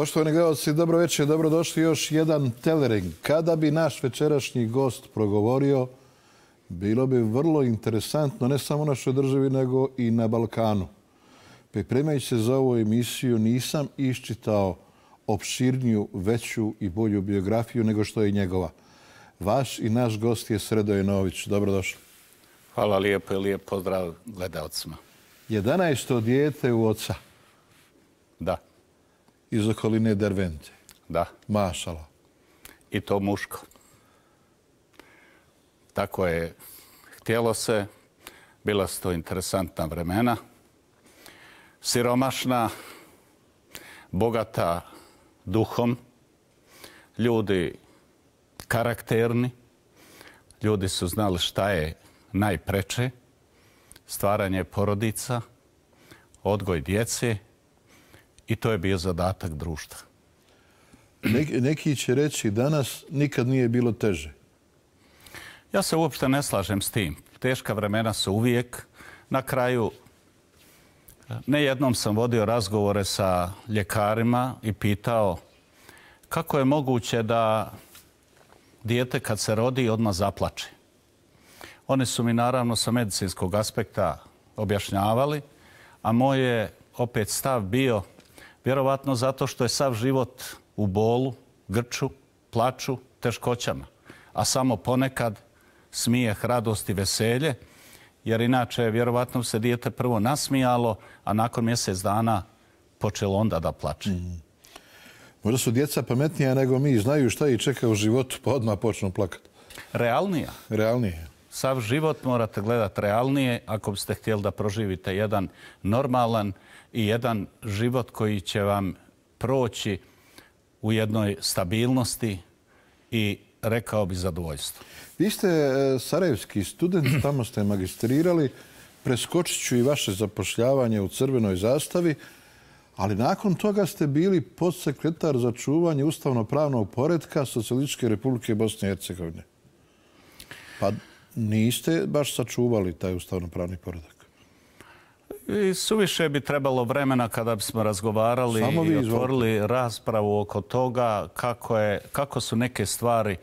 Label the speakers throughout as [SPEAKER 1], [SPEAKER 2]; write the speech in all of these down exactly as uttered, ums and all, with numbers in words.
[SPEAKER 1] Poštovani gledalci, dobro večer, dobrodošli još jedan Telering. Kada bi naš večerašnji gost progovorio, bilo bi vrlo interesantno, ne samo u našoj državi, nego i na Balkanu. Pripremajući se za ovu emisiju, nisam iščitao opširniju, veću i bolju biografiju nego što je njegova. Vaš i naš gost je Sredoje Nović. Dobrodošli.
[SPEAKER 2] Hvala lijepo i lijep pozdrav gledalcima.
[SPEAKER 1] jedanaesto dijete u oca.
[SPEAKER 2] Da.
[SPEAKER 1] Iz okoline Dervente.
[SPEAKER 2] Da.
[SPEAKER 1] Mašala.
[SPEAKER 2] I to muško. Tako je htjelo se. Bila su to interesantna vremena. Siromašna, bogata duhom, ljudi karakterni, ljudi su znali šta je najpreče, stvaranje porodica, odgoj djece i to je bio zadatak društva.
[SPEAKER 1] Neki, neki će reći danas nikad nije bilo teže.
[SPEAKER 2] Ja se uopšte ne slažem s tim. Teška vremena su uvijek. Na kraju, ne jednom sam vodio razgovore sa ljekarima i pitao kako je moguće da dijete kad se rodi odmah zaplače. Oni su mi naravno sa medicinskog aspekta objašnjavali, a moj je opet stav bio vjerovatno zato što je sav život u bolu, grču, plaču, teškoćama, a samo ponekad smijeh, radost i veselje, jer inače vjerovatno se dijete prvo nasmijalo, a nakon mjesec dana počelo onda da plače. Mm.
[SPEAKER 1] Možda su djeca pametnija nego mi, znaju šta ih čeka u životu, pa odmah počnu plakati.
[SPEAKER 2] Realnija.
[SPEAKER 1] Realnije.
[SPEAKER 2] Sav život morate gledati realnije ako biste htjeli da proživite jedan normalan i jedan život koji će vam proći u jednoj stabilnosti i rekao bi zadovoljstvo.
[SPEAKER 1] Vi ste sarajevski student, tamo ste magistrirali, preskočit ću i vaše zapošljavanje u Crvenoj zastavi, ali nakon toga ste bili podsekretar za čuvanje ustavno-pravnog poretka Socijalističke Republike Bosne i Hercegovine. Pa niste baš sačuvali taj ustavno-pravni poredak.
[SPEAKER 2] I suviše bi trebalo vremena kada bismo razgovarali i otvorili raspravu oko toga kako, je, kako su neke stvari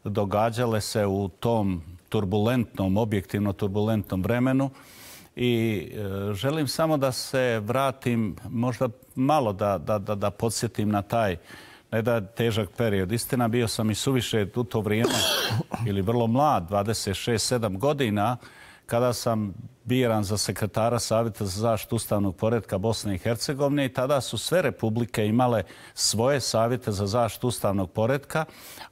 [SPEAKER 2] događale se u tom turbulentnom, objektivno turbulentnom vremenu. I e, želim samo da se vratim, možda malo da, da, da, da podsjetim na taj ne da težak period. Istina, bio sam i suviše u to vrijeme, ili vrlo mlad, dvadeset šest sedam godina, kada sam biran za sekretara Savjeta za zaštitu ustavnog poretka Bosne i Hercegovine i tada su sve republike imale svoje savjete za zaštitu ustavnog poretka,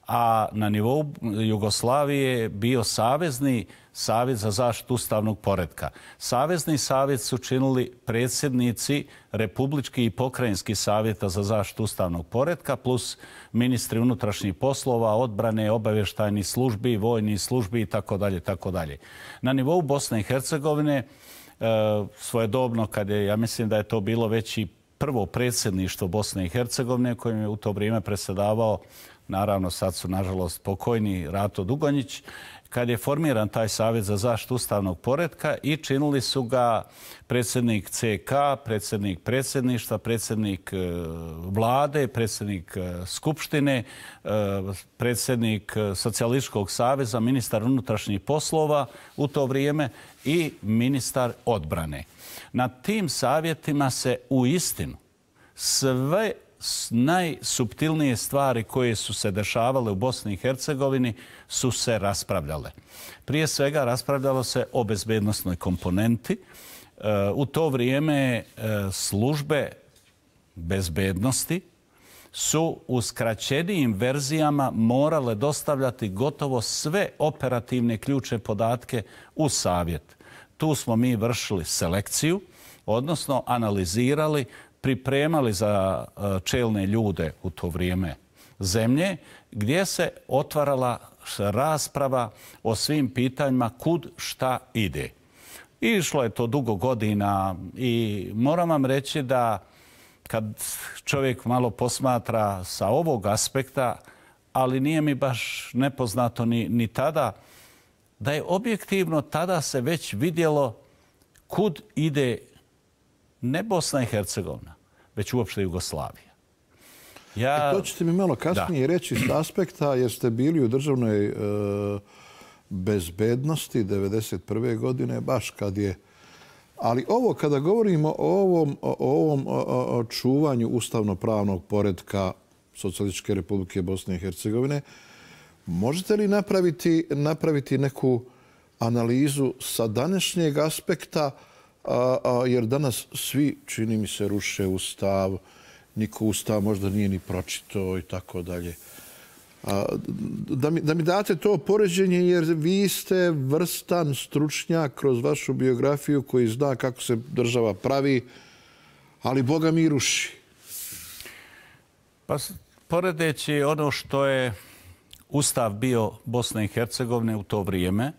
[SPEAKER 2] a na nivou Jugoslavije je bio Savezni savjet za zaštitu ustavnog poretka. Savezni savjet su činili predsjednici republički i pokrajinski savjeta za zaštitu ustavnog poretka plus ministri unutrašnjih poslova, odbrane, obavještajnih službi, vojnih službi i tako dalje, tako dalje. Na nivou Bosne i Hercegovine svojedobno, kad je, ja mislim da je to bilo već i prvo predsjedništvo Bosne i Hercegovine kojim je u to vrijeme predsjedavao, naravno sad su nažalost pokojni, Rato Dugonjić, kad je formiran taj Savjet za zaštitu ustavnog poretka i činili su ga predsjednik C K, predsjednik predsjedništva, predsjednik vlade, predsjednik skupštine, predsjednik Socijalističkog saveza, ministar unutrašnjih poslova u to vrijeme i ministar odbrane. Na tim savjetima se uistinu sve najsuptilnije stvari koje su se dešavale u Bosni i Hercegovini su se raspravljale. Prije svega raspravljalo se o bezbednosnoj komponenti. U to vrijeme službe bezbednosti su u skraćenijim verzijama morale dostavljati gotovo sve operativne ključne podatke u savjet. Tu smo mi vršili selekciju, odnosno analizirali, pripremali za čelne ljude u to vrijeme zemlje, gdje se otvarala rasprava o svim pitanjima kud šta ide. I išlo je to dugo godina i moram vam reći da kad čovjek malo posmatra sa ovog aspekta, ali nije mi baš nepoznato ni, ni tada, da je objektivno tada se već vidjelo kud ide ne Bosna i Hercegovina, već uopšte Jugoslavija.
[SPEAKER 1] Ja... To ćete mi malo kasnije reći s aspekta, jer ste bili u državnoj bezbednosti devedeset prve godine, baš kad je... Ali ovo, kada govorimo o ovom, o ovom o, o čuvanju ustavno-pravnog poretka Socijalističke Republike Bosne i Hercegovine, možete li napraviti, napraviti neku analizu sa današnjeg aspekta, a, a, jer danas svi, čini mi se, ruše ustav, niko ustav možda nije ni pročitao i tako dalje. Da mi, da mi date to poređenje, jer vi ste vrstan stručnjak kroz vašu biografiju koji zna kako se država pravi, ali Boga mi ruši.
[SPEAKER 2] Pa poredeći ono što je ustav bio Bosne i Hercegovine u to vrijeme,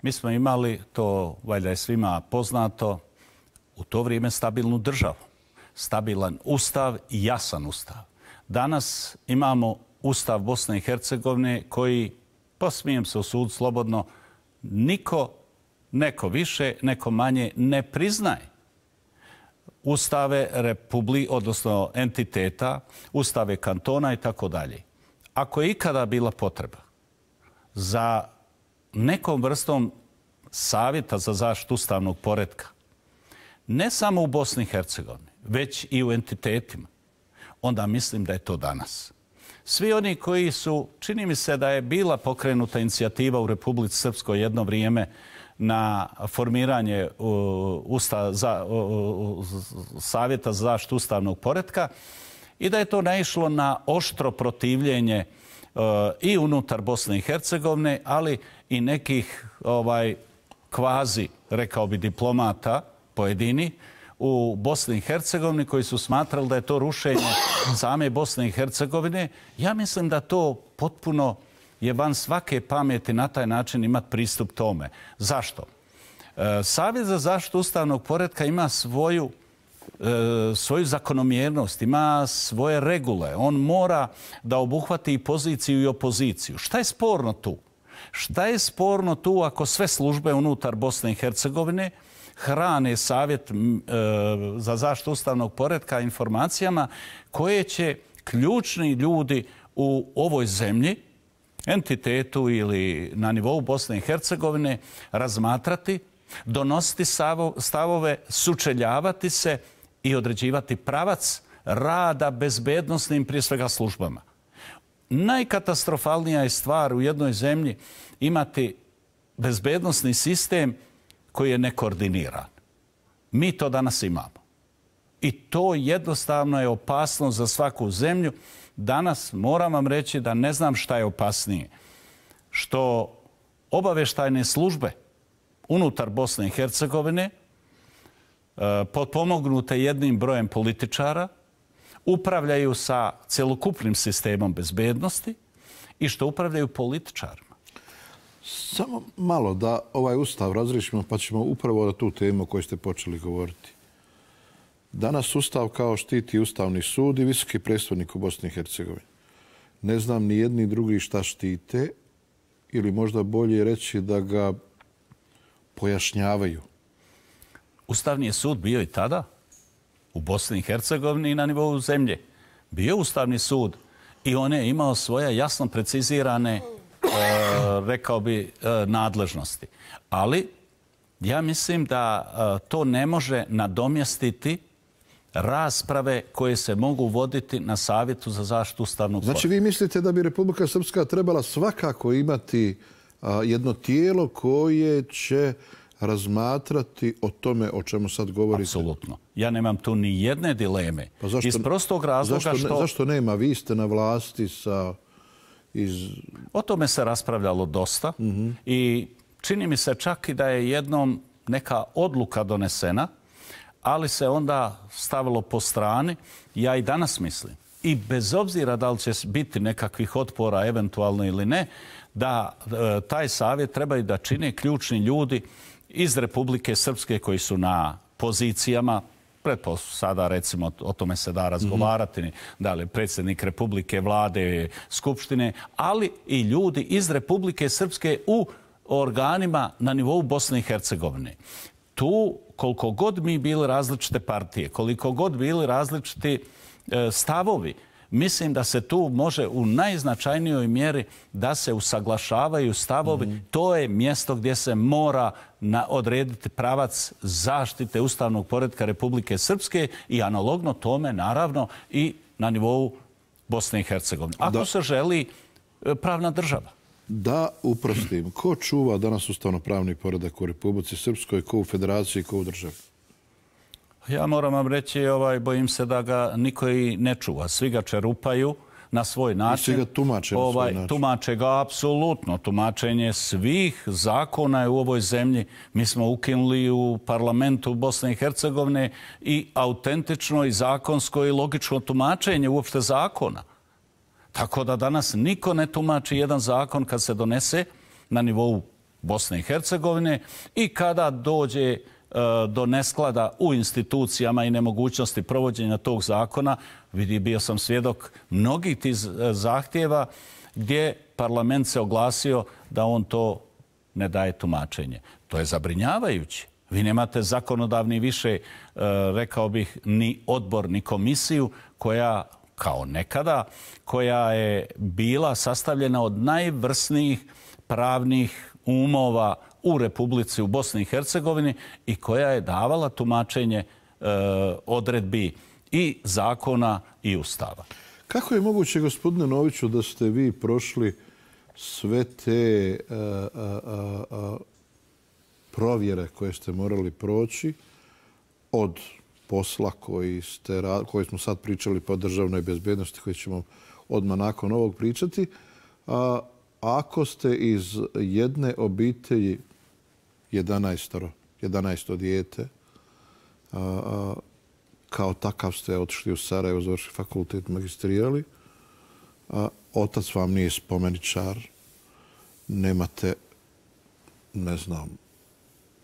[SPEAKER 2] mi smo imali, to valjda je svima poznato, u to vrijeme stabilnu državu. Stabilan ustav i jasan ustav. Danas imamo Ustav Bosne i Hercegovine koji, pa smijem se usuditi slobodno, niko, neko više, neko manje ne priznaje ustave republi, odnosno entiteta, ustave kantona i tako dalje. Ako je ikada bila potreba za nekom vrstom savjeta za zaštitu ustavnog poretka, ne samo u Bosni i Hercegovini, već i u entitetima, onda mislim da je to danas. Svi oni koji su, čini mi se da je bila pokrenuta inicijativa u Republici Srpskoj jedno vrijeme na formiranje usta, za, savjeta za zaštitu ustavnog poretka i da je to naišlo na oštro protivljenje i unutar Bosne i Hercegovine, ali i nekih ovaj, kvazi, rekao bi, diplomata pojedini u Bosni i Hercegovini koji su smatrali da je to rušenje same Bosne i Hercegovine. Ja mislim da to potpuno je van svake pameti na taj način imati pristup tome. Zašto? Savjet za zaštitu ustavnog poretka ima svoju, svoju zakonomjernost, ima svoje regule. On mora da obuhvati i poziciju i opoziciju. Šta je sporno tu? Šta je sporno tu ako sve službe unutar Bosne i Hercegovine hrane savjet za zaštitu ustavnog poretka informacijama koje će ključni ljudi u ovoj zemlji, entitetu ili na nivou Bosne i Hercegovine razmatrati, donositi stavove, sučeljavati se i određivati pravac rada bezbednosnim prije svega službama. Najkatastrofalnija je stvar u jednoj zemlji imati bezbednosni sistem koji je nekoordiniran. Mi to danas imamo. I to jednostavno je opasno za svaku zemlju. Danas moram vam reći da ne znam šta je opasnije. Što obavještajne službe unutar Bosne i Hercegovine, potpomognute jednim brojem političara, upravljaju sa celokupnim sistemom bezbednosti i što upravljaju političarima.
[SPEAKER 1] Samo malo da ovaj ustav razrišimo, pa ćemo upravo na tu temu o kojoj ste počeli govoriti. Danas ustav kao štiti Ustavni sud i visoki predstavnik u Bosni i Hercegovini. Ne znam ni jedni drugi šta štite, ili možda bolje reći da ga pojašnjavaju.
[SPEAKER 2] Ustavni je sud bio i tada u Bosni i Hercegovini i na nivou zemlje. Bio Ustavni sud i on je imao svoje jasno precizirane rekao bi, nadležnosti. Ali ja mislim da to ne može nadomjestiti rasprave koje se mogu voditi na Savjetu za zaštitu ustavnog poretka.
[SPEAKER 1] Znači vi mislite da bi Republika Srpska trebala svakako imati jedno tijelo koje će razmatrati o tome o čemu sad govorite?
[SPEAKER 2] Apsolutno. Ja nemam tu ni jedne dileme.
[SPEAKER 1] Pa zašto,
[SPEAKER 2] iz prostog razloga
[SPEAKER 1] zašto,
[SPEAKER 2] što...
[SPEAKER 1] Zašto nema? Vi ste na vlasti sa... Iz...
[SPEAKER 2] O tome se raspravljalo dosta mm-hmm. i čini mi se čak i da je jednom neka odluka donesena, ali se onda stavilo po strani. Ja i danas mislim, i bez obzira da li će biti nekakvih otpora eventualno ili ne, da e, taj savjet trebaju da čine ključni ljudi iz Republike Srpske koji su na pozicijama, pretpostavljam sada recimo o tome se da razgovarati, mm-hmm. da li predsjednik Republike, vlade, skupštine, ali i ljudi iz Republike Srpske u organima na nivou Bosne i Hercegovine. Tu, koliko god mi bili različite partije, koliko god bili različiti e, stavovi, mislim da se tu može u najznačajnijoj mjeri da se usaglašavaju stavovi. Mm-hmm. To je mjesto gdje se mora na odrediti pravac zaštite ustavnog poretka Republike Srpske i analogno tome, naravno, i na nivou Bosne i Hercegovine. Ako da. se želi pravna država.
[SPEAKER 1] Da uprostim, ko čuva danas ustavno-pravni poredak u Republici Srpskoj, ko u Federaciji, ko u državi?
[SPEAKER 2] Ja moram vam reći, ovaj, bojim se da ga niko i ne čuva. Svi ga čerupaju na svoj način.
[SPEAKER 1] I svi ga tumače na
[SPEAKER 2] ovaj,
[SPEAKER 1] svoj način.
[SPEAKER 2] Tumače ga apsolutno. Tumačenje svih zakona je u ovoj zemlji. Mi smo ukinuli u parlamentu Bosne i Hercegovine i autentično i zakonsko i logično tumačenje uopšte zakona. Tako da danas niko ne tumači jedan zakon kad se donese na nivou Bosne i Hercegovine i kada dođe do nesklada u institucijama i nemogućnosti provođenja tog zakona. Vidi, bio sam svjedok mnogih tih zahtjeva gdje parlament se oglasio da on to ne daje tumačenje. To je zabrinjavajuće. Vi nemate zakonodavni više, rekao bih, ni odbor, ni komisiju koja, kao nekada, koja je bila sastavljena od najvrsnijih pravnih umova u Republici, u Bosni i Hercegovini i koja je davala tumačenje e, odredbi i zakona i ustava.
[SPEAKER 1] Kako je moguće, gospodine Noviću, da ste vi prošli sve te a, a, a, a, provjere koje ste morali proći od posla koji, ste, koji smo sad pričali po državnoj bezbednosti, koji ćemo odmah nakon ovog pričati, a, ako ste iz jedne obitelji jedanaestoro, jedanaesto dijete, a, a, kao takav ste otišli u Sarajevo, završili fakultet, magistrirali, a otac vam nije spomeničar, nemate, ne znam,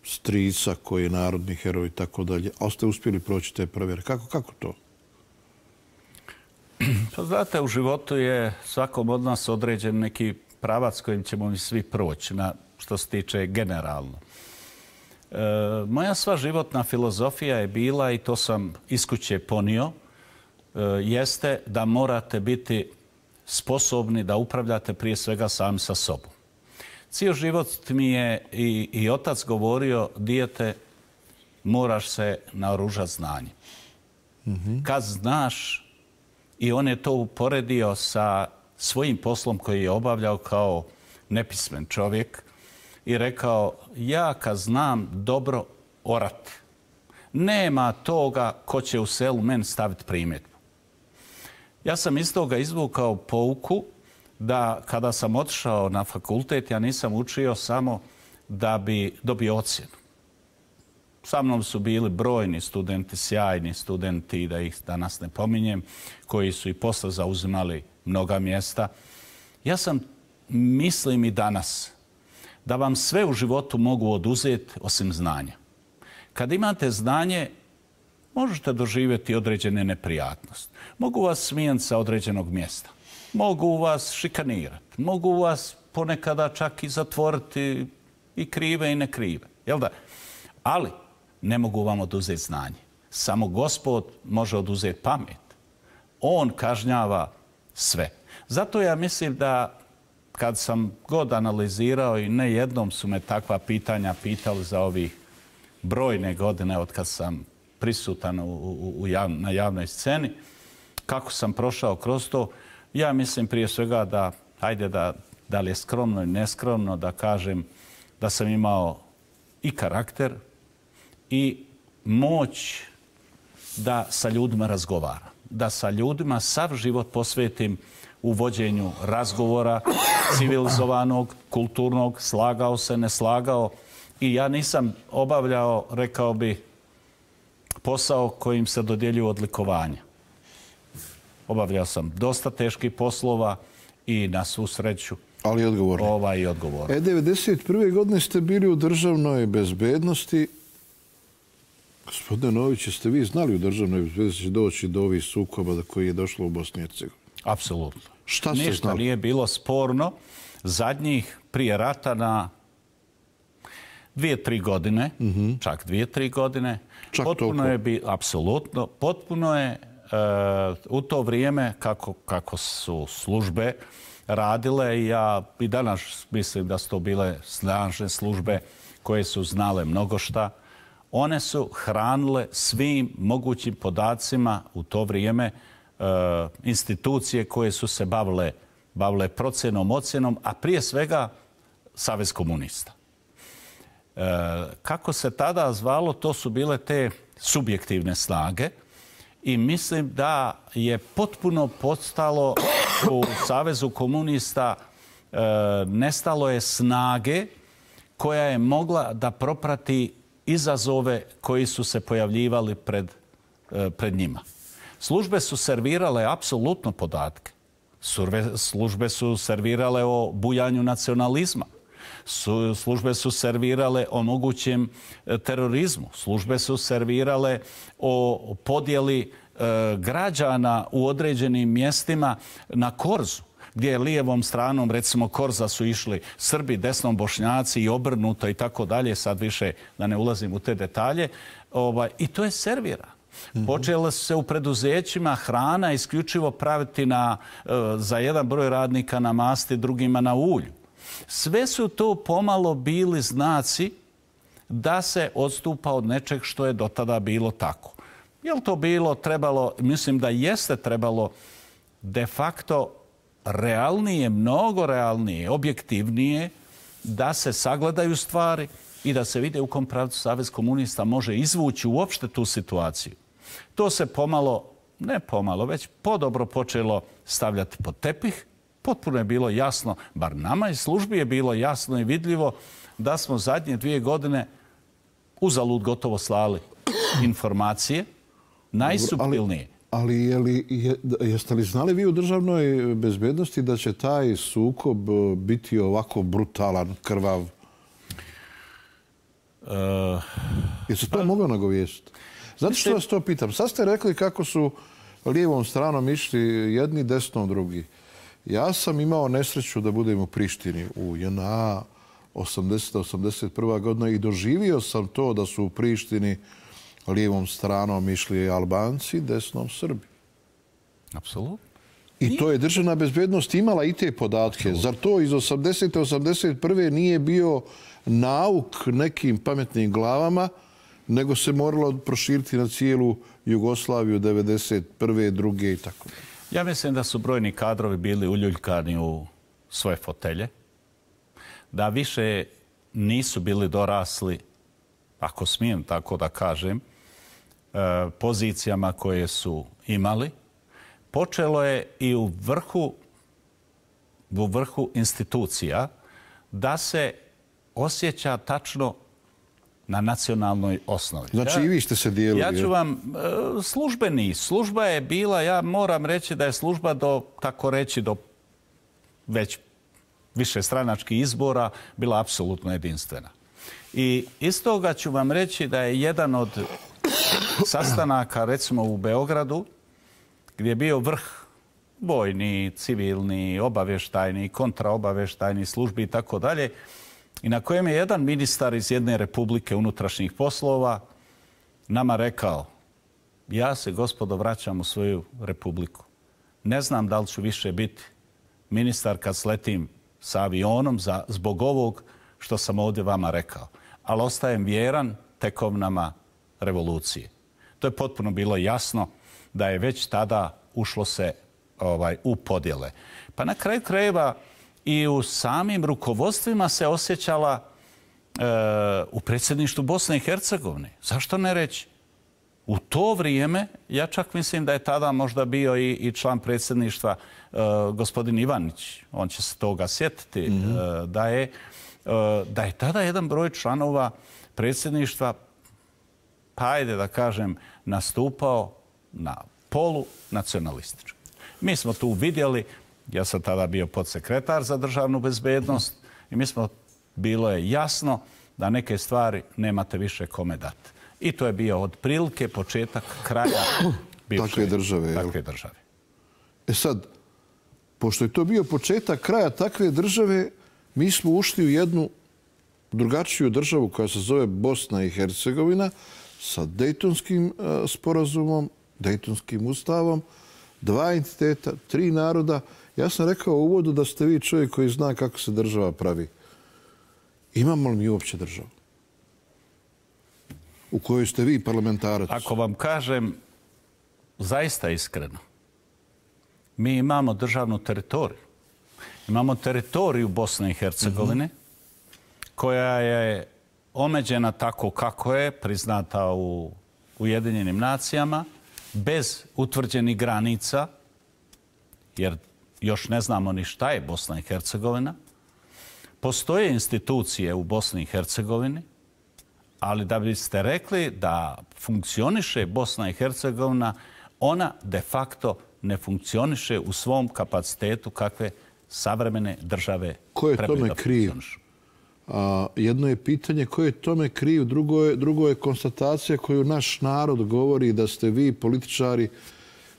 [SPEAKER 1] strica koji je narodni heroj i tako dalje, ali ste uspjeli proći te provjere. Kako, kako to?
[SPEAKER 2] Pa znate, u životu je svakom od nas određen neki pravac kojim ćemo mi svi proći, na što se tiče generalno. E, moja sva životna filozofija je bila, i to sam iz kuće ponio, e, jeste da morate biti sposobni da upravljate prije svega sami sa sobom. Cijel život mi je i, i otac govorio, dijete, moraš se naoružati znanjem. Mm-hmm. Kad znaš, i on je to uporedio sa svojim poslom koji je obavljao kao nepismen čovjek i rekao, ja kad znam dobro orati, nema toga ko će u selu meni staviti primjedbu. Ja sam iz toga izvukao pouku da kada sam otišao na fakultet, ja nisam učio samo da bi dobio ocjenu. Sa mnom su bili brojni studenti, sjajni studenti, da ih danas ne pominjem, koji su i posle zauzimali mnoga mjesta. Ja sam, mislim i danas, da vam sve u životu mogu oduzeti osim znanja. Kad imate znanje, možete doživjeti određene neprijatnosti. Mogu vas smijeniti sa određenog mjesta. Mogu vas šikanirati. Mogu vas ponekada čak i zatvoriti i krive i nekrive. Jel da? Ali ne mogu vam oduzeti znanje. Samo Gospod može oduzeti pamet. On kažnjava sve. Zato ja mislim da kad sam god analizirao, i ne jednom su me takva pitanja pitali za ovih brojne godine od kad sam prisutan u, u, u jav, na javnoj sceni, kako sam prošao kroz to, ja mislim prije svega da, hajde da, da li je skromno i neskromno, da kažem da sam imao i karakter i moć da sa ljudima razgovaram. Da sa ljudima sav život posvetim u vođenju razgovora, civilizovanog, kulturnog, slagao se, ne slagao. I ja nisam obavljao, rekao bi, posao kojim se dodjeljuju odlikovanja. Obavljao sam dosta teških poslova i na svu sreću
[SPEAKER 1] ali odgovorni.
[SPEAKER 2] Ovaj i odgovorni.
[SPEAKER 1] E, devedeset prve godine ste bili u državnoj bezbednosti. Gospodine Nović, jeste vi znali u državnoj bezbednosti doći do ovih sukoba do koji je došlo u Bosni i Hercegovini?
[SPEAKER 2] Apsolutno.
[SPEAKER 1] Šta ste
[SPEAKER 2] Ništa
[SPEAKER 1] znali?
[SPEAKER 2] nije bilo sporno. Zadnjih prije rata na dvije, tri godine, mm-hmm. čak dvije, tri godine,
[SPEAKER 1] čak
[SPEAKER 2] potpuno
[SPEAKER 1] toliko.
[SPEAKER 2] je bi, apsolutno, potpuno je u to vrijeme kako, kako su službe radile, ja i danas mislim da su to bile snažne službe koje su znale mnogo šta, one su hranile svim mogućim podacima u to vrijeme institucije koje su se bavile, bavile procjenom, ocjenom, a prije svega Savez komunista. Kako se tada zvalo, to su bile te subjektivne snage i mislim da je potpuno postalo u Savezu komunista, nestalo je snage koja je mogla da proprati izazove koji su se pojavljivali pred, pred njima. Službe su servirale apsolutno podatke. Službe su servirale o bujanju nacionalizma. Službe su servirale o mogućem terorizmu. Službe su servirale o podjeli građana u određenim mjestima na korzu, gdje je lijevom stranom, recimo, korza su išli Srbi, desnom Bošnjaci i obrnuto i tako dalje. Sad više da ne ulazim u te detalje. I to je servirano. Počela su se u preduzećima hrana isključivo praviti na, za jedan broj radnika na masti, drugima na ulju. Sve su to pomalo bili znaci da se odstupa od nečeg što je do tada bilo tako. Je li to bilo, trebalo, mislim da jeste trebalo de facto realnije, mnogo realnije, objektivnije, da se sagledaju stvari i da se vide u kom pravcu Savez komunista može izvući uopšte tu situaciju. To se pomalo, ne pomalo, već podobro počelo stavljati pod tepih. Potpuno je bilo jasno, bar nama iz službi je bilo jasno i vidljivo da smo zadnje dvije godine uzalud gotovo slali informacije, najsuptilnije.
[SPEAKER 1] Ali je li, je, jeste li znali vi u državnoj bezbednosti da će taj sukob biti ovako brutalan, krvav? Uh, je se to pa, moglo nagovijestiti? Zato što vas to pitam. Sad ste rekli kako su lijevom stranom išli jedni, desnom drugi. Ja sam imao nesreću da budem u Prištini u J N A osamdeseta osamdeset prva godina i doživio sam to da su u Prištini lijevom stranom išli Albanci, desnom Srbi.
[SPEAKER 2] Apsolutno.
[SPEAKER 1] I to je državna bezbednost imala i te podatke. Absolut. Zar to iz osamdesete osamdeset prve nije bio nauk nekim pametnim glavama, nego se moralo proširiti na cijelu Jugoslaviju devedeset prve, druge i tako.
[SPEAKER 2] Ja mislim da su brojni kadrovi bili uljuljkani u svoje fotelje, da više nisu bili dorasli, ako smijem tako da kažem, pozicijama koje su imali. Počelo je i u vrhu, u vrhu institucija da se osjeća tačno na nacionalnoj osnovi.
[SPEAKER 1] Znači ja, i vi ste se dijelili.
[SPEAKER 2] Ja ću vam, službeni, služba je bila, ja moram reći da je služba do, tako reći, do već više stranačkih izbora bila apsolutno jedinstvena. I iz toga ću vam reći da je jedan od sastanaka, recimo u Beogradu, gdje je bio vrh vojni, civilni, obavještajni, kontraobavještajni službi i tako dalje, i na kojem je jedan ministar iz jedne republike unutrašnjih poslova nama rekao: ja se, gospodo, vraćam u svoju republiku. Ne znam da li ću više biti ministar kad sletim sa avionom za, zbog ovog što sam ovdje vama rekao. Ali ostajem vjeran tekovnama revolucije. To je potpuno bilo jasno da je već tada ušlo se ovaj, u podjele. Pa na kraju krajeva i u samim rukovodstvima se osjećala e, u predsjedništvu Bosne i Hercegovine. Zašto ne reći? U to vrijeme, ja čak mislim da je tada možda bio i, i član predsjedništva e, gospodin Ivanić, on će se toga sjetiti, mm-hmm. e, da, je, e, da je tada jedan broj članova predsjedništva, pa ajde da kažem, nastupao na polu nacionalistički. Mi smo tu vidjeli, ja sam tada bio podsekretar za državnu bezbednost i mi smo, bilo je jasno da neke stvari nemate više kome dati. I to je bio otprilike početak kraja bivše
[SPEAKER 1] takve države.
[SPEAKER 2] Takve države.
[SPEAKER 1] E sad, pošto je to bio početak kraja takve države, mi smo ušli u jednu drugačiju državu koja se zove Bosna i Hercegovina sa Dejtonskim sporazumom Dejtonskim ustavom, dva entiteta, tri naroda. Ja sam rekao u uvodu da ste vi čovjek koji zna kako se država pravi. Imamo li mi uopće državu? U kojoj ste vi parlamentarac?
[SPEAKER 2] Ako vam kažem zaista iskreno, mi imamo državnu teritoriju. Imamo teritoriju Bosne i Hercegovine, koja je omeđena tako kako je, priznata u Ujedinjenim nacijama, bez utvrđenih granica, jer još ne znamo ni šta je Bosna i Hercegovina. Postoje institucije u Bosni i Hercegovini, ali da biste rekli da funkcioniše Bosna i Hercegovina, ona de facto ne funkcioniše u svom kapacitetu kakve savremene države trebaju da funkcionišu.
[SPEAKER 1] A, jedno je pitanje ko je tome kriv, drugo je, drugo je konstatacija koju naš narod govori da ste vi, političari,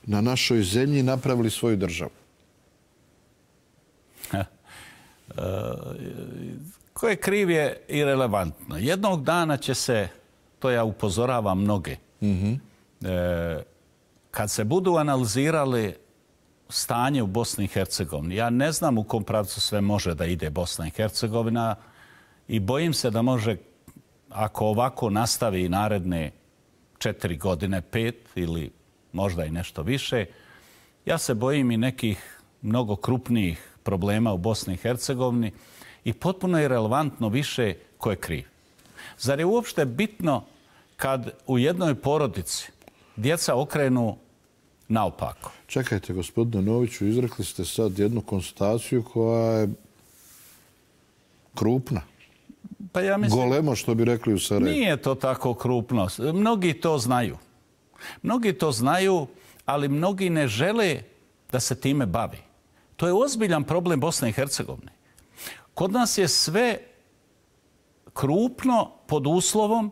[SPEAKER 1] na našoj zemlji napravili svoju državu.
[SPEAKER 2] E, ko je kriv je irelevantno. Jednog dana će se, to ja upozoravam mnoge, mm-hmm. e, kad se budu analizirali stanje u Bosni i Hercegovini, ja ne znam u kom pravcu sve može da ide Bosna i Hercegovina i bojim se da može, ako ovako nastavi naredne četiri godine, pet ili možda i nešto više, ja se bojim i nekih mnogo krupnijih problema u Bosni i Hercegovini i potpuno je relevantno više ko je kriv. Zar je uopšte bitno kad u jednoj porodici djeca okrenu naopako?
[SPEAKER 1] Čekajte, gospodine Noviću, izrekli ste sad jednu konstataciju koja je krupna.
[SPEAKER 2] Pa ja mislim,
[SPEAKER 1] golemo, što bi rekli u Sarajevu.
[SPEAKER 2] Nije to tako krupno. Mnogi to znaju. Mnogi to znaju, ali mnogi ne žele da se time bavi. To je ozbiljan problem Bosne i Hercegovine. Kod nas je sve krupno pod uslovom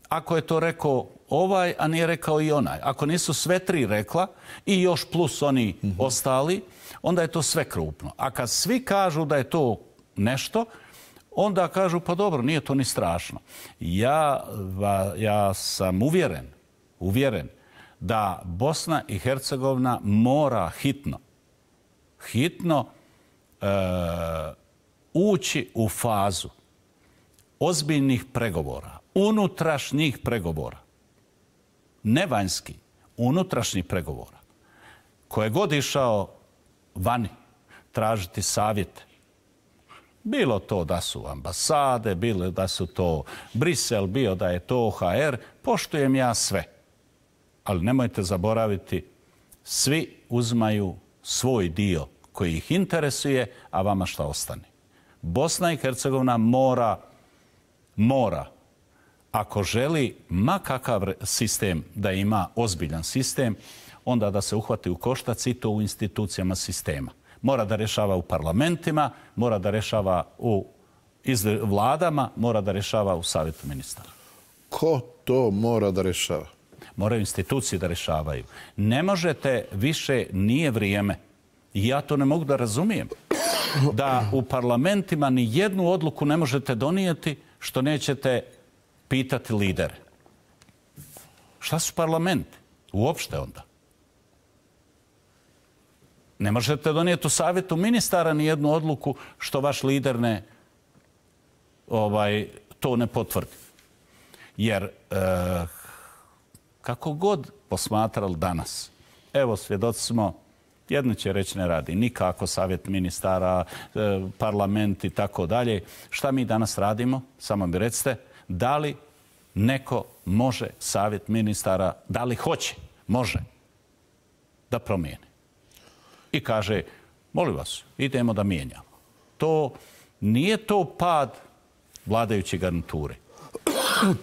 [SPEAKER 2] ako je to rekao ovaj, a nije rekao i onaj. Ako nisu sve tri rekla i još plus oni mm-hmm. ostali, onda je to sve krupno. A kad svi kažu da je to nešto, onda kažu pa dobro, nije to ni strašno. Ja, ja sam uvjeren, uvjeren da Bosna i Hercegovina mora hitno, hitno e, ući u fazu ozbiljnih pregovora, unutrašnjih pregovora, ne vanjski, unutrašnjih pregovora. Ko je god išao vani tražiti savjete, bilo to da su ambasade, bilo da su to Brisel, bio da je to O H R, poštujem ja sve. Ali nemojte zaboraviti, svi uzmaju svoj dio koji ih interesuje, a vama šta ostane. Bosna i Hercegovina mora, mora, ako želi ma kakav sistem da ima ozbiljan sistem, onda da se uhvati u koštac i to u institucijama sistema. Mora da rješava u parlamentima, mora da rješava u vladama, mora da rješava u savjetu ministara.
[SPEAKER 1] Ko to mora da rješava?
[SPEAKER 2] Moraju institucije da rješavaju. Ne možete više, nije vrijeme, i ja to ne mogu da razumijem, da u parlamentima ni jednu odluku ne možete donijeti što nećete pitati lidere. Šta su parlamenti? Uopšte onda. Ne možete donijeti u savjetu ministara ni jednu odluku što vaš lider ne, ovaj, to ne potvrdi. Jer e, kako god posmatrali danas, evo svjedoci smo, jedno će reći ne radi nikako savjet ministara, e, parlament i tako dalje. Šta mi danas radimo? Samo mi recite, da li neko može savjet ministara, da li hoće, može da promijeni? I kaže, molim vas, idemo da mijenjamo. To nije to pad vladajuće garniture.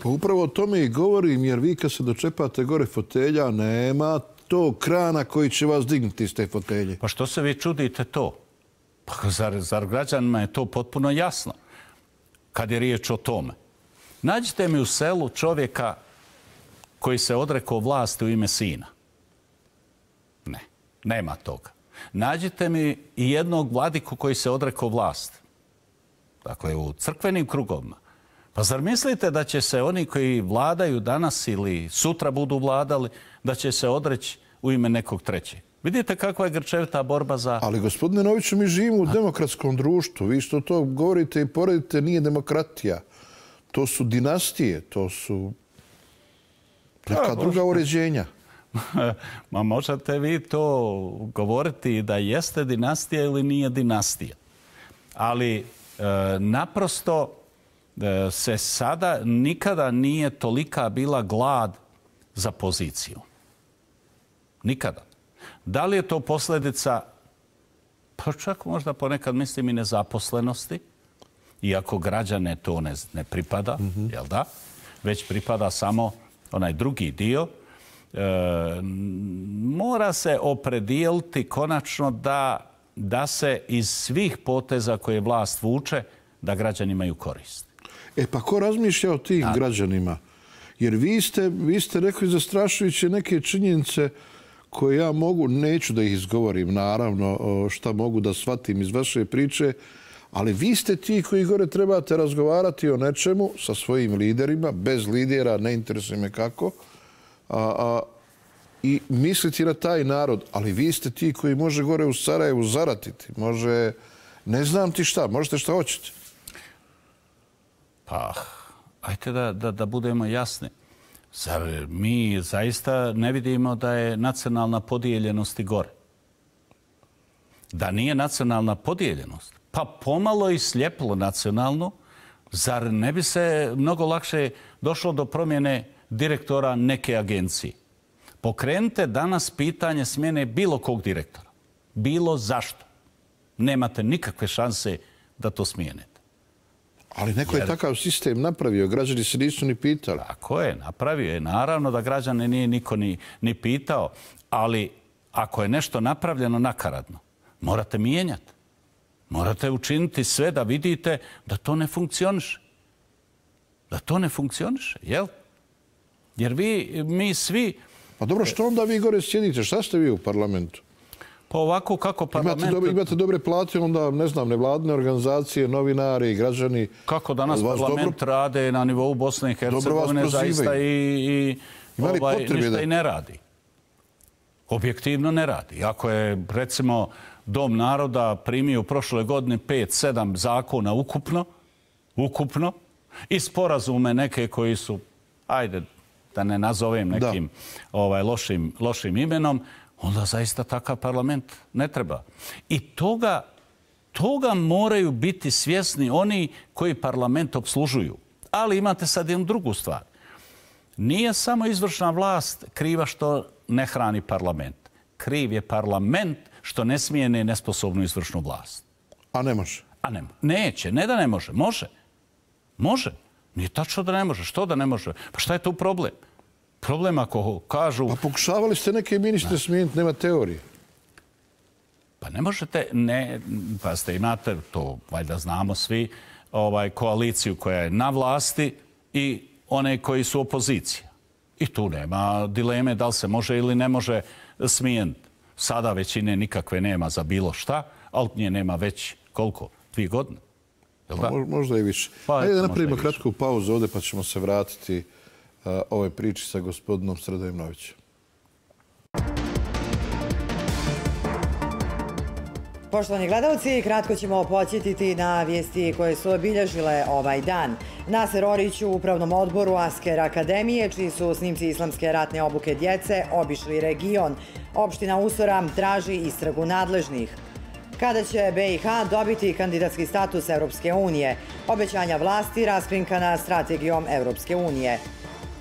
[SPEAKER 1] Pa upravo o tome i govorim, jer vi kad se dočepate gore fotelja, nema to krana koji će vas dignuti iz te fotelje.
[SPEAKER 2] Pa što se vi čudite to? Pa zar, zar građanima je to potpuno jasno kad je riječ o tome? Nađite mi u selu čovjeka koji se odrekao vlasti u ime sina. Ne, nema toga. Nađite mi i jednog vladiku koji se odrekao vlasti. Dakle, u crkvenim krugovima. Pa zar mislite da će se oni koji vladaju danas ili sutra budu vladali, da će se odreći u ime nekog trećeg? Vidite kakva je grčevita borba za...
[SPEAKER 1] Ali, gospodine Noviću, mi živimo u demokratskom društvu. Vi što to govorite i poredite, nije demokratija. To su dinastije, to su neka druga uređenja.
[SPEAKER 2] Ma možete vi to govoriti da jeste dinastija ili nije dinastija. Ali e, naprosto e, se sada nikada nije tolika bila glad za poziciju. Nikada. Da li je to posljedica, pa čak možda ponekad mislim i nezaposlenosti, iako građane to ne, ne pripada, mm-hmm. jel da? Već pripada samo onaj drugi dio. E, mora se opredijeliti konačno da, da se iz svih poteza koje vlast vuče, da građani imaju korist.
[SPEAKER 1] E pa ko razmišlja o tim A... građanima? Jer vi ste, vi ste rekli zastrašujuće neke činjenice koje ja mogu, neću da ih izgovorim, naravno, šta mogu da shvatim iz vaše priče, ali vi ste ti koji gore trebate razgovarati o nečemu sa svojim liderima, bez lidera, ne interesuje me kako, a, a, i misliti na taj narod. Ali vi ste ti koji može gore u Sarajevu zaratiti, može, ne znam ti šta, možete šta hoćete.
[SPEAKER 2] Pa, ajte da, da, da budemo jasni. Zar mi zaista ne vidimo da je nacionalna podijeljenost i gore? Da nije nacionalna podijeljenost, pa pomalo i sljepilo nacionalno, zar ne bi se mnogo lakše došlo do promjene direktora neke agencije? Pokrenite danas pitanje smjene bilo kog direktora. Bilo zašto. Nemate nikakve šanse da to smijenite.
[SPEAKER 1] Ali neko je takav sistem napravio, građani se nisu ni pitali.
[SPEAKER 2] Tako je, napravio je. Naravno da građane nije niko ni, ni pitao, ali ako je nešto napravljeno nakaradno, morate mijenjati. Morate učiniti sve da vidite da to ne funkcioniše. Da to ne funkcioniše, jel? Jer vi, mi svi...
[SPEAKER 1] Pa dobro, što onda vi gore sjedite? Šta ste vi u parlamentu?
[SPEAKER 2] Pa ovako kako parlament...
[SPEAKER 1] Imate dobre, imate dobre plate, onda, ne znam, nevladne organizacije, novinari, građani...
[SPEAKER 2] Kako danas parlament dobro... rade na nivou Bosne i Hercegovine, zaista i, i ovaj, ništa da... i ne radi. Objektivno ne radi. Ako je, recimo, Dom naroda primio u prošle godine pet sedam zakona ukupno, ukupno, i sporazume neke koji su, ajde, da ne nazovem nekim ovaj, lošim, lošim imenom, onda zaista takav parlament ne treba. I toga, toga moraju biti svjesni oni koji parlament obslužuju. Ali imate sad jednu drugu stvar. Nije samo izvršna vlast kriva što ne hrani parlament. Kriv je parlament što ne smijene nesposobnu izvršnu vlast.
[SPEAKER 1] A ne može?
[SPEAKER 2] A ne, neće. Ne da ne može. Može. Može. Nije tačno da ne može. Što da ne može? Pa šta je tu problem? Problem ako kažu...
[SPEAKER 1] Pa pokušavali ste neke ministre smijeniti, nema teorije.
[SPEAKER 2] Pa ne možete, ne, pa ste imate, to valjda znamo svi, ovaj, koaliciju koja je na vlasti i one koji su opozicija. I tu nema dileme da li se može ili ne može smijeniti. Sada većine nikakve nema za bilo šta, ali nje nema već koliko? Dvije godine?
[SPEAKER 1] Pa, možda i više. Pa, Ajde da napravimo kratku pauzu ovdje pa ćemo se vratiti uh, ovoj priči sa gospodinom Sredojem Novićem.
[SPEAKER 3] Poštovani gledalci, kratko ćemo podsjetiti na vijesti koje su obilježile ovaj dan. Naser Orić u Upravnom odboru Asker Akademije, čiji su snimci islamske ratne obuke djece obišli region. Opština Usora traži istragu nadležnih. Kada će B i H dobiti kandidatski status Europske unije? Obećanja vlasti raskrinkana strategijom Europske unije.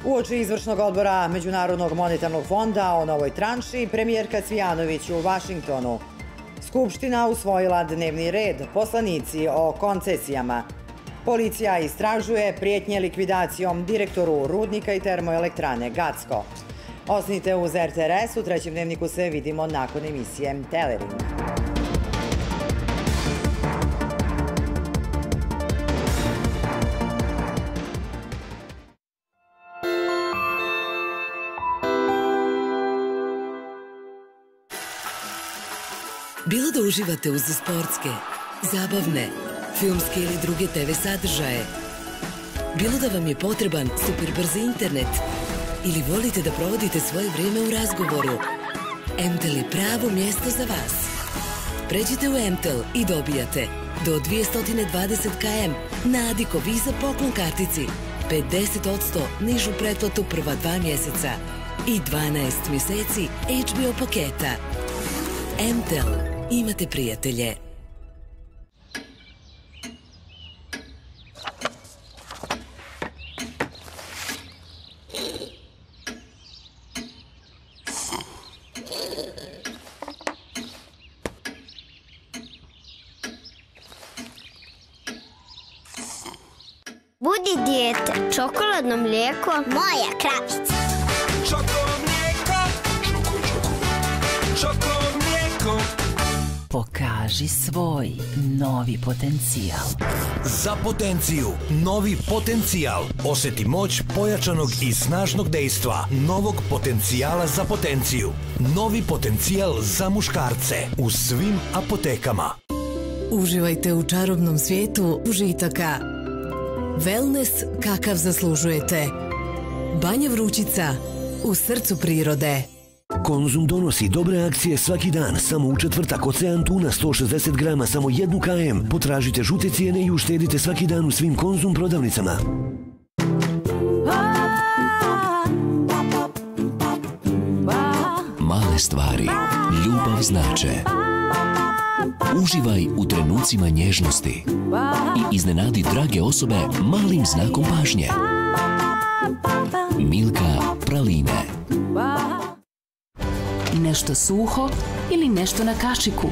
[SPEAKER 3] Uoči izvršnog odbora Međunarodnog monetarnog fonda o novoj tranši, premijerka Cvijanović u Vašingtonu. Skupština usvojila dnevni red, poslanici o koncesijama. Policija istražuje prijetnje likvidacijom direktoru rudnika i termoelektrane Gacko. Ostanite uz R T R S, u trećem dnevniku se vidimo nakon emisije Telering.
[SPEAKER 4] Bilo da uživate uz sportske, zabavne, filmske ili druge te ve sadržaje, Bilo da vam je potreban super brzi internet ili volite da provodite svoje vrijeme u razgovoru, M T E L je pravo mjesto za vas. Pređite u M T E L i dobijate do dvjesto dvadeset kilometara na Adiko Visa poklon kartici, pedeset posto nižu pretplatu prva dva mjeseca i dvanaest mjeseci H B O paketa. M T E L. Imate prijatelje.
[SPEAKER 5] Budi dijete, čokoladno mlijeko, moja kravica.
[SPEAKER 6] Čoko mlijeko, čoko, čoko, čoko mlijeko.
[SPEAKER 7] Pokaži svoj novi potencijal.
[SPEAKER 8] Za potenciju, novi potencijal. Osjeti moć pojačanog i snažnog dejstva. Novog potencijala za potenciju. Novi potencijal za muškarce. U svim apotekama.
[SPEAKER 4] Uživajte u čarobnom svijetu užitaka. Wellness kakav zaslužujete. Banja Vrućica, u srcu prirode.
[SPEAKER 9] Konzum donosi dobre akcije svaki dan. Samo u četvrtak Ocean tuna sto šezdeset grama, samo jedan kilogram. Potražite žute cijene i uštedite svaki dan u svim Konzum prodavnicama.
[SPEAKER 10] Male stvari ljubav znače. Uživaj u trenucima nježnosti i iznenadi drage osobe malim znakom pažnje. Milka praline.
[SPEAKER 7] Nešto suho ili nešto na kašiku.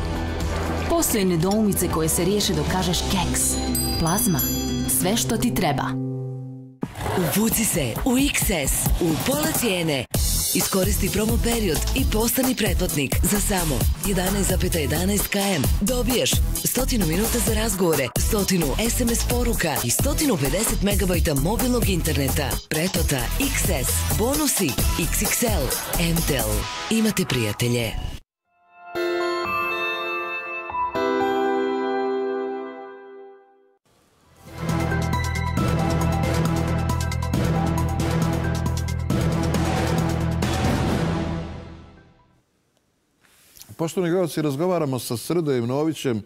[SPEAKER 7] Postoje nedoumice koje se riješe dok kažeš keks. Plazma. Sve što ti treba.
[SPEAKER 4] Uvuci se u X S u pola cijene. Iskoristi promo period i postani pretplatnik za samo jedanaest zarez jedanaest kilometara. Dobiješ sto minuta za razgovore, sto S M S poruka i sto pedeset megabajta mobilnog interneta. Pretplata X S, bonusi X X L. M T E L. Imate prijatelje.
[SPEAKER 1] Poštovani gledalci, razgovaramo sa Srdojem Novićem.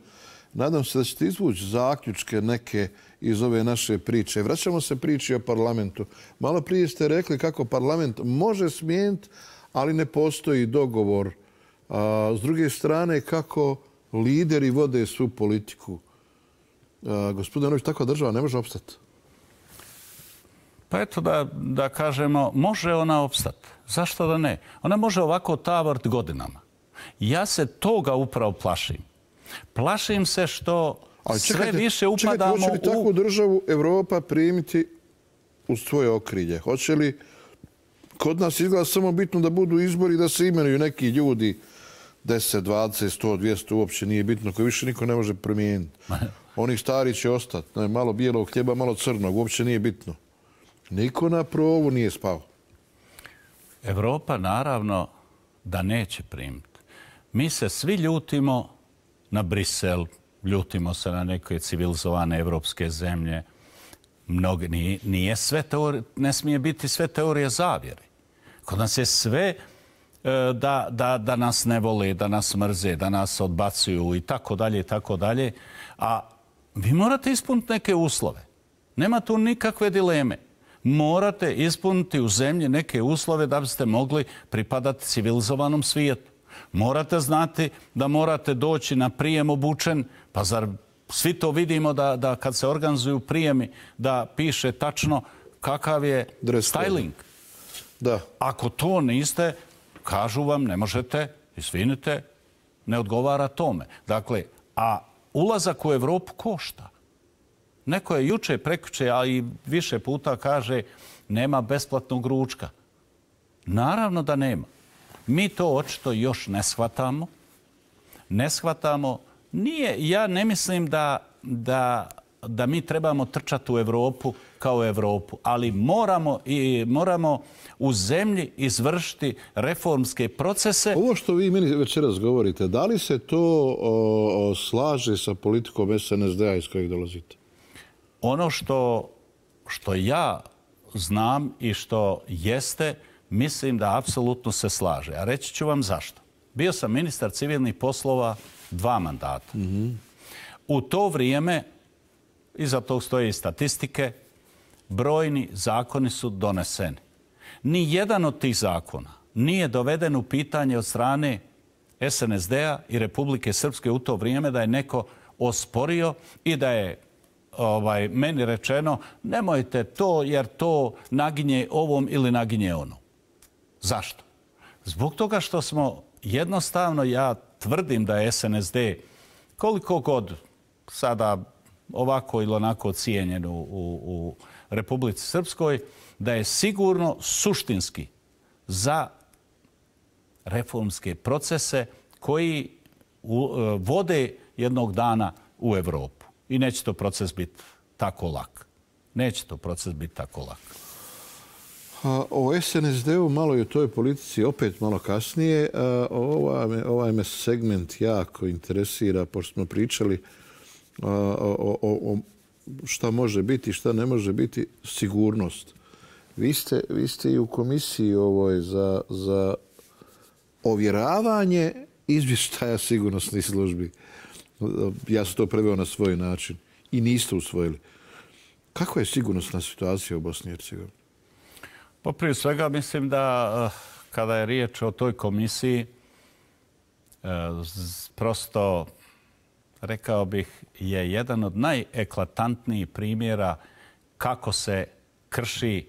[SPEAKER 1] Nadam se da ćete izvući zaključke neke iz ove naše priče. Vraćamo se priči o parlamentu. Malo prije ste rekli kako parlament može smijeniti, ali ne postoji dogovor. A, s druge strane, kako lideri vode svu politiku. A, gospodine Nović, takva država ne može opstati.
[SPEAKER 2] Pa eto da, da kažemo, može ona opstati. Zašto da ne? Ona može ovako tavart godinama. Ja se toga upravo plašim. Plašim se što
[SPEAKER 1] ali čekajte,
[SPEAKER 2] sve više upadamo
[SPEAKER 1] čekajte, hoće li
[SPEAKER 2] u...
[SPEAKER 1] takvu državu Evropa primiti u svoje okrilje? Hoće li kod nas izgleda samo bitno da budu izbori, da se imenuju neki ljudi deset, dvadeset, sto, dvjesto, uopće nije bitno, koji više niko ne može promijeniti. Oni stari će ostati. Malo bijelog hljeba, malo crnog, uopće nije bitno. Niko na provu nije spao.
[SPEAKER 2] Evropa naravno da neće primiti. Mi se svi ljutimo na Brisel, ljutimo se na neke civilizovane evropske zemlje. Mnogi, nije, nije sve teorije, ne smije biti sve teorije zavjere. Kod nas je sve e, da, da, da nas ne vole, da nas mrze, da nas odbacuju i tako dalje i tako dalje. A vi morate ispuniti neke uslove. Nema tu nikakve dileme. Morate ispuniti u zemlji neke uslove da biste mogli pripadati civilizovanom svijetu. Morate znati da morate doći na prijem obučen, pa zar svi to vidimo da, da kad se organizuju prijemi da piše tačno kakav je styling.
[SPEAKER 1] Da.
[SPEAKER 2] Ako to niste, kažu vam ne možete, izvinite, ne odgovara tome. Dakle, a ulazak u Evropu košta. Neko je juče, prekjuče, a i više puta kaže nema besplatnog ručka. Naravno da nema. Mi to očito još ne shvatamo. Ne shvatamo. Nije, ja ne mislim da, da, da mi trebamo trčati u Evropu kao Evropu, ali moramo, i, moramo u zemlji izvršiti reformske procese.
[SPEAKER 1] Ovo što vi meni večeras govorite, da li se to o, o, slaže sa politikom S N S D-a iz kojeg dolazite?
[SPEAKER 2] Ono što, što ja znam i što jeste, mislim da apsolutno se slaže. A reći ću vam zašto. Bio sam ministar civilnih poslova dva mandata. Mm-hmm. U to vrijeme, iza tog stoje i statistike, brojni zakoni su doneseni. Ni jedan od tih zakona nije doveden u pitanje od strane S N S D-a i Republike Srpske u to vrijeme da je neko osporio i da je ovaj, meni rečeno nemojte to jer to naginje ovom ili naginje onom. Zašto? Zbog toga što smo jednostavno, ja tvrdim da je S N S D koliko god sada ovako ili onako cijenjen u, u, u Republici Srpskoj, da je sigurno suštinski za reformske procese koji u, vode jednog dana u Evropu. I neće to proces biti tako lak. Neće to proces biti tako lak.
[SPEAKER 1] A, o S N S D-u malo i o toj politici opet malo kasnije. A, ova me, ovaj me segment jako interesira, pošto smo pričali a, o, o, o šta može biti, šta ne može biti, sigurnost. Vi ste, vi ste i u komisiji ovoj za, za ovjeravanje izvještaja sigurnosnih službi. Ja sam to preveo na svoj način i niste usvojili. Kakva je sigurnosna situacija u Bosni i Hercegovini?
[SPEAKER 2] Pa prije svega mislim da kada je riječ o toj komisiji, prosto rekao bih je jedan od najeklatantnijih primjera kako se krši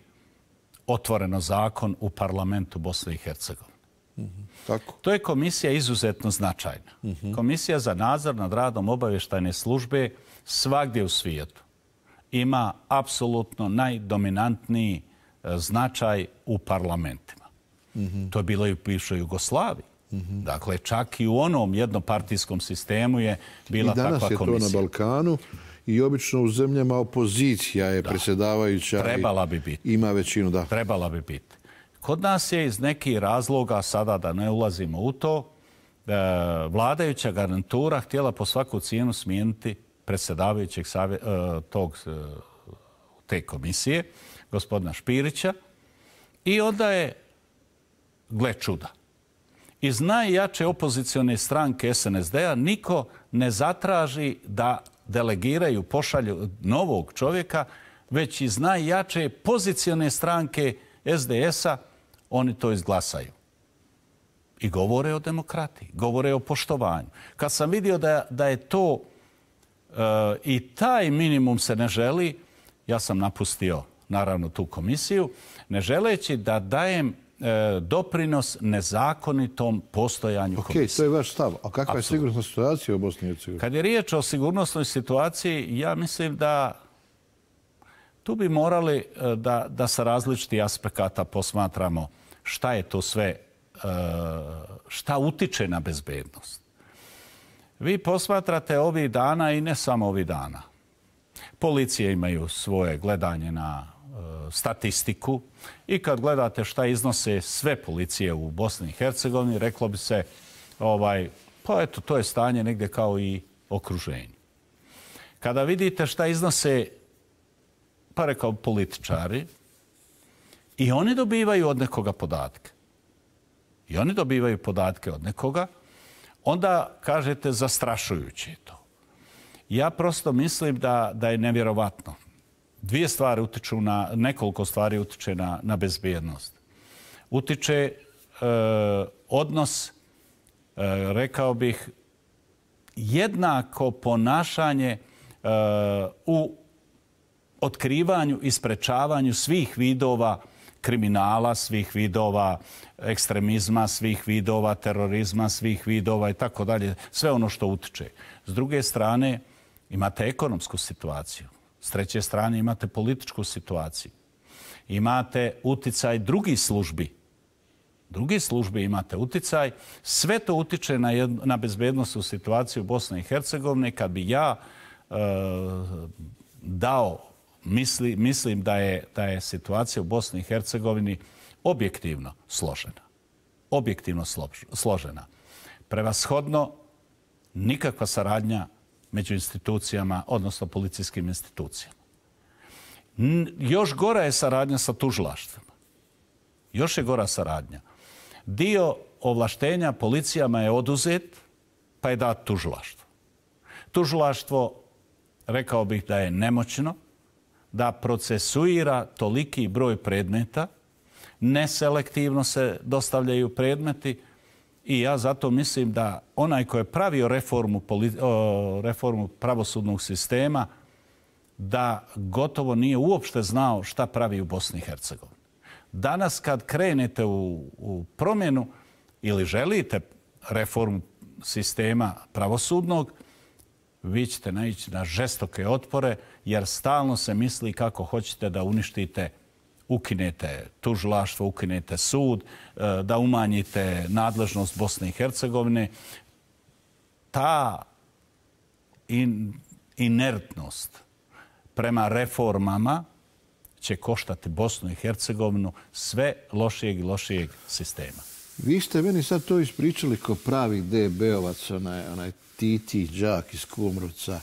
[SPEAKER 2] otvoreno zakon u parlamentu Bosne i Hercegovine.
[SPEAKER 1] Mm-hmm. Tako.
[SPEAKER 2] To je komisija izuzetno značajna. Mm-hmm. Komisija za nadzor nad radom obavještajne službe svagdje u svijetu ima apsolutno najdominantniji značaj u parlamentima. Mm-hmm. To je bilo i u bivšoj Jugoslaviji. Mm-hmm. Dakle, čak i u onom jednopartijskom sistemu je bila takva komisija.
[SPEAKER 1] I danas je to na Balkanu i obično u zemljama opozicija je da. predsjedavajuća.
[SPEAKER 2] Trebala bi biti.
[SPEAKER 1] Ima većinu, da.
[SPEAKER 2] Trebala bi biti. Kod nas je iz nekih razloga, sada da ne ulazimo u to, vladajuća garnitura htjela po svaku cijenu smijeniti predsjedavajućeg savje, tog, te komisije, gospodina Špirića, i onda je, gle čuda, iz najjače opozicione stranke S N S D-a niko ne zatraži da delegiraju, pošalju novog čovjeka, već iz najjače pozicione stranke S D S-a oni to izglasaju. I govore o demokratiji, govore o poštovanju. Kad sam vidio da, da je to e, i taj minimum se ne želi, ja sam napustio naravno tu komisiju, ne želeći da dajem e, doprinos nezakonitom postojanju
[SPEAKER 1] okay,
[SPEAKER 2] komisije.
[SPEAKER 1] Ok, to je vaš stav. A kakva je sigurnosna situacija u Bosni i Hercegovini?
[SPEAKER 2] Kad je riječ o sigurnosnoj situaciji, ja mislim da tu bi morali da, da sa različitih aspekata posmatramo šta je to sve, šta utiče na bezbednost. Vi posmatrate ovih dana i ne samo ovih dana. Policije imaju svoje gledanje na statistiku i kad gledate šta iznose sve policije u Bosni i Hercegovini, reklo bi se, ovaj, pa eto, to je stanje negdje kao i okruženje. Kada vidite šta iznose, pa rekao političari, i oni dobivaju od nekoga podatke. I oni dobivaju podatke od nekoga, onda kažete zastrašujuće je to. Ja prosto mislim da, da je nevjerovatno. Dvije stvari utiču na, nekoliko stvari utiče na, na bezbjednost. Utiče e, odnos, e, rekao bih, jednako ponašanje e, u otkrivanju i sprečavanju svih vidova kriminala, svih vidova ekstremizma, svih vidova terorizma, svih vidova i tako dalje. Sve ono što utiče. S druge strane, imate ekonomsku situaciju. S treće strane, imate političku situaciju. Imate uticaj drugih službi. Drugih službi imate uticaj. Sve to utiče na, jed, na bezbednostnu situaciju Bosne i Hercegovine. Kad bi ja e, dao Misli, mislim da je, da je situacija u Bosni i Hercegovini objektivno složena. Objektivno složena. Prevashodno nikakva saradnja među institucijama, odnosno policijskim institucijama. Još gora je saradnja sa tužilaštvima. Još je gora saradnja. Dio ovlaštenja policijama je oduzet, pa je dat tužilaštvo. Tužilaštvo, rekao bih da je nemoćno, da procesuira toliki broj predmeta, neselektivno se dostavljaju predmeti i ja zato mislim da onaj ko je pravio reformu, reformu pravosudnog sistema, da gotovo nije uopšte znao šta pravi u Bosni i Hercegovini. Danas kad krenete u, u promjenu ili želite reformu sistema pravosudnog, vi ćete naići na žestoke otpore jer stalno se misli kako hoćete da uništite, ukinete tužilaštvo, ukinete sud, da umanjite nadležnost Bosne i Hercegovine. Ta in, inertnost prema reformama će koštati Bosnu i Hercegovinu sve lošijeg i lošijeg sistema.
[SPEAKER 1] Vi ste meni sad to ispričali kao pravi D B-ovac, onaj, onaj Titi, đak iz Kumrovca,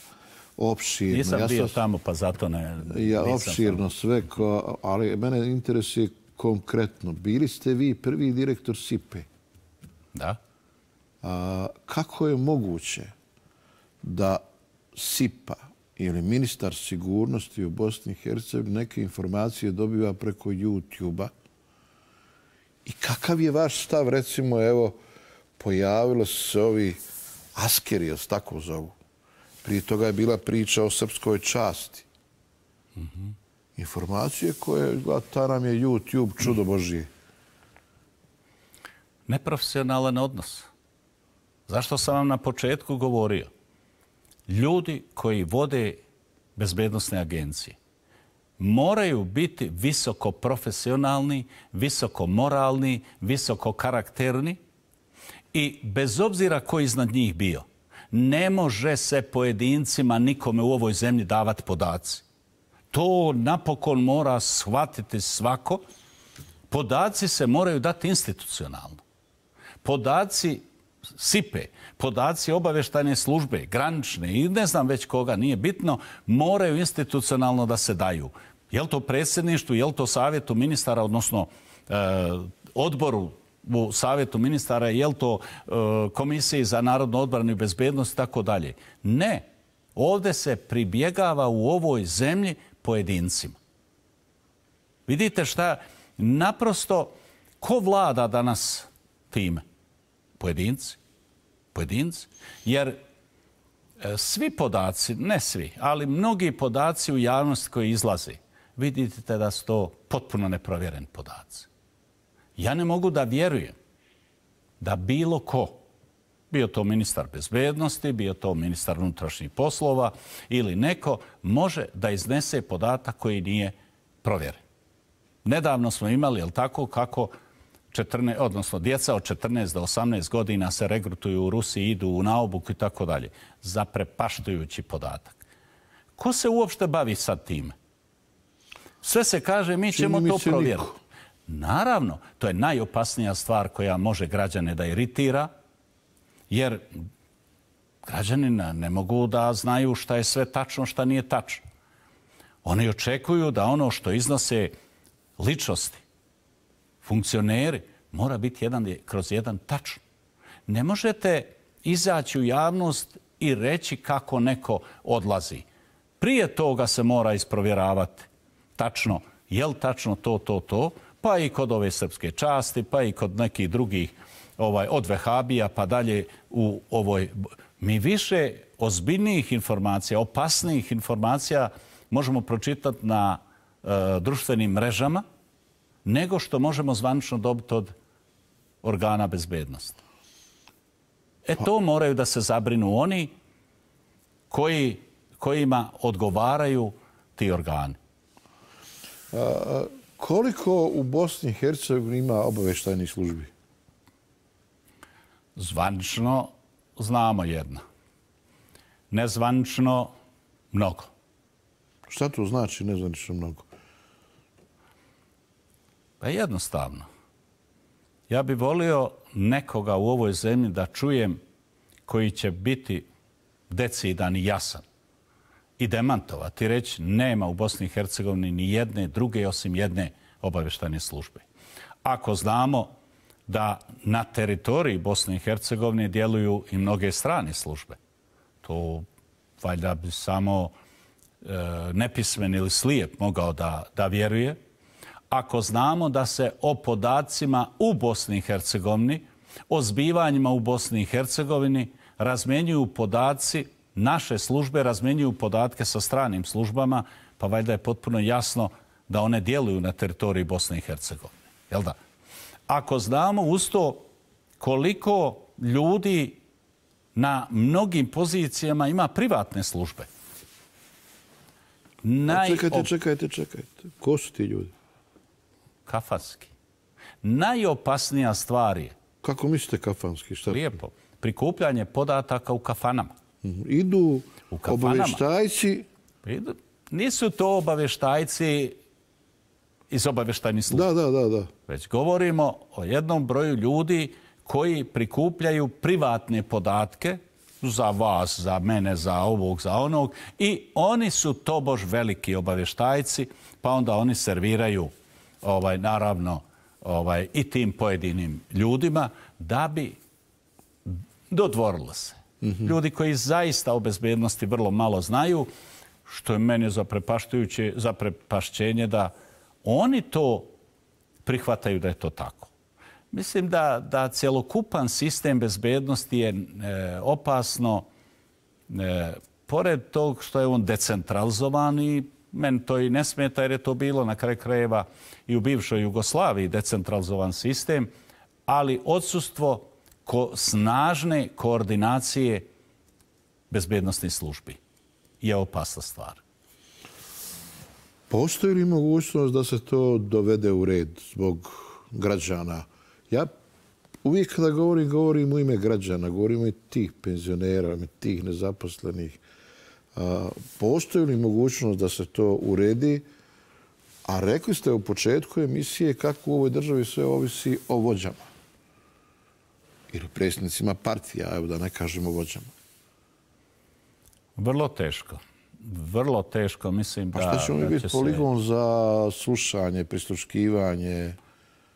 [SPEAKER 1] opširno.
[SPEAKER 2] Nisam ja bio sam, tamo, pa zato ne...
[SPEAKER 1] Ja, opširno tamo. Sve, ko, ali mene interesuje konkretno. Bili ste vi prvi direktor S I P E.
[SPEAKER 2] Da.
[SPEAKER 1] A, kako je moguće da S I P A ili ministar sigurnosti u Bosni i Hercegovini neke informacije dobiva preko YouTube-a? I kakav je vaš stav, recimo, evo, pojavilo se ovi askeri, jel se tako zovu? Prije toga je bila priča o srpskoj časti. Mm-hmm. Informacije koje, ta nam je YouTube čudo Božije.
[SPEAKER 2] Neprofesionalan odnos. Zašto sam vam na početku govorio? Ljudi koji vode bezbednosne agencije moraju biti visoko profesionalni, visoko moralni, visoko karakterni i bez obzira ko iznad njih bio, ne može se pojedincima nikome u ovoj zemlji davati podaci. To napokon mora shvatiti svako. Podaci se moraju dati institucionalno. Podaci S I P E, podaci obavještajne službe, granične i ne znam već koga, nije bitno, moraju institucionalno da se daju. Je li to predsjedništvu, je li to savjetu ministara, odnosno e, odboru u savjetu ministara, je li to e, komisiji za narodnu odbranu i bezbednost i tako dalje. Ne. Ovdje se pribjegava u ovoj zemlji pojedincima. Vidite šta, naprosto, ko vlada danas time? Pojedinci. Pojedinci. Jer e, svi podaci, ne svi, ali mnogi podaci u javnosti koji izlaze, vidite da su to potpuno neprovjereni podaci. Ja ne mogu da vjerujem da bilo ko, bio to ministar bezbednosti, bio to ministar unutrašnjih poslova ili neko, može da iznese podatak koji nije provjeren. Nedavno smo imali, jel tako, kako četrnaest, odnosno djeca od četrnaest do osamnaest godina se regrutuju u Rusiji, idu u naobuku i tako dalje. Zaprepaštujući podatak. Ko se uopšte bavi sad time? Sve se kaže, mi ćemo to provjeriti. Naravno, to je najopasnija stvar koja može građane da iritira, jer građani ne mogu da znaju šta je sve tačno, šta nije tačno. Oni očekuju da ono što iznose ličnosti, funkcioneri, mora biti jedan, kroz jedan tačno. Ne možete izaći u javnost i reći kako neko odlazi. Prije toga se mora isprovjeravati tačno, je li tačno to, to, to, pa i kod ove srpske časti, pa i kod nekih drugih, ovaj, od Vehabija pa dalje u ovoj... Mi više ozbiljnijih informacija, opasnijih informacija možemo pročitati na e, društvenim mrežama nego što možemo zvanično dobiti od organa bezbednosti. E to moraju da se zabrinu oni koji, kojima odgovaraju ti organi.
[SPEAKER 1] A, koliko u Bosni i Hercegovini ima obavještajnih službi?
[SPEAKER 2] Zvanično znamo jedno. Nezvanično mnogo.
[SPEAKER 1] Šta to znači nezvanično mnogo?
[SPEAKER 2] Pa jednostavno. Ja bih volio nekoga u ovoj zemlji da čujem koji će biti decidan i jasan i demantovati, reći nema u Bosni i Hercegovini ni jedne druge osim jedne obavještajne službe. Ako znamo da na teritoriji Bosne i Hercegovine djeluju i mnoge strane službe, to valjda bi samo e, nepismen ili slijep mogao da, da vjeruje. Ako znamo da se o podacima u Bosni i Hercegovini, o zbivanjima u Bosni i Hercegovini razmjenjuju podaci, naše službe razmjenjuju podatke sa stranim službama, pa valjda je potpuno jasno da one djeluju na teritoriji Bosne i Hercegovine. Jel da? Ako znamo uz to koliko ljudi na mnogim pozicijama ima privatne službe.
[SPEAKER 1] Naj... Čekajte, čekajte, čekajte. Ko su ti ljudi?
[SPEAKER 2] Kafanski. Najopasnija stvar je...
[SPEAKER 1] Kako mislite kafanski? Šta?
[SPEAKER 2] Lijepo. Prikupljanje podataka u kafanama.
[SPEAKER 1] Idu u kafanama. Obavještajci...
[SPEAKER 2] Idu. Nisu to obavještajci iz obavještajnih službi.
[SPEAKER 1] Da, da, da, da.
[SPEAKER 2] Već govorimo o jednom broju ljudi koji prikupljaju privatne podatke za vas, za mene, za ovog, za onog i oni su tobož veliki obavještajci, pa onda oni serviraju ovaj, naravno ovaj, i tim pojedinim ljudima da bi dodvorilo se. Mm-hmm. Ljudi koji zaista o bezbednosti vrlo malo znaju, što je meni zaprepašćujuće, zaprepašćenje da oni to prihvataju da je to tako. Mislim da, da cjelokupan sistem bezbednosti je e, opasno, e, pored tog što je on decentralizovan i meni to i ne smeta jer je to bilo na kraju krajeva i u bivšoj Jugoslaviji decentralizovan sistem, ali odsustvo ko snažne koordinacije bezbednostnih službi je opasna stvar.
[SPEAKER 1] Postoji li mogućnost da se to dovede u red zbog građana? Ja uvijek kada govorim, govorim u ime građana, govorim i tih penzionera, i tih nezaposlenih. A, postoji li mogućnost da se to uredi? A rekli ste u početku emisije kako u ovoj državi sve ovisi o vođama. Ili predsjednicima partija, evo da ne kažemo vođama.
[SPEAKER 2] Vrlo teško. Vrlo teško, mislim da...
[SPEAKER 1] A što ćemo mi biti poligon se... za slušanje, prisluškivanje?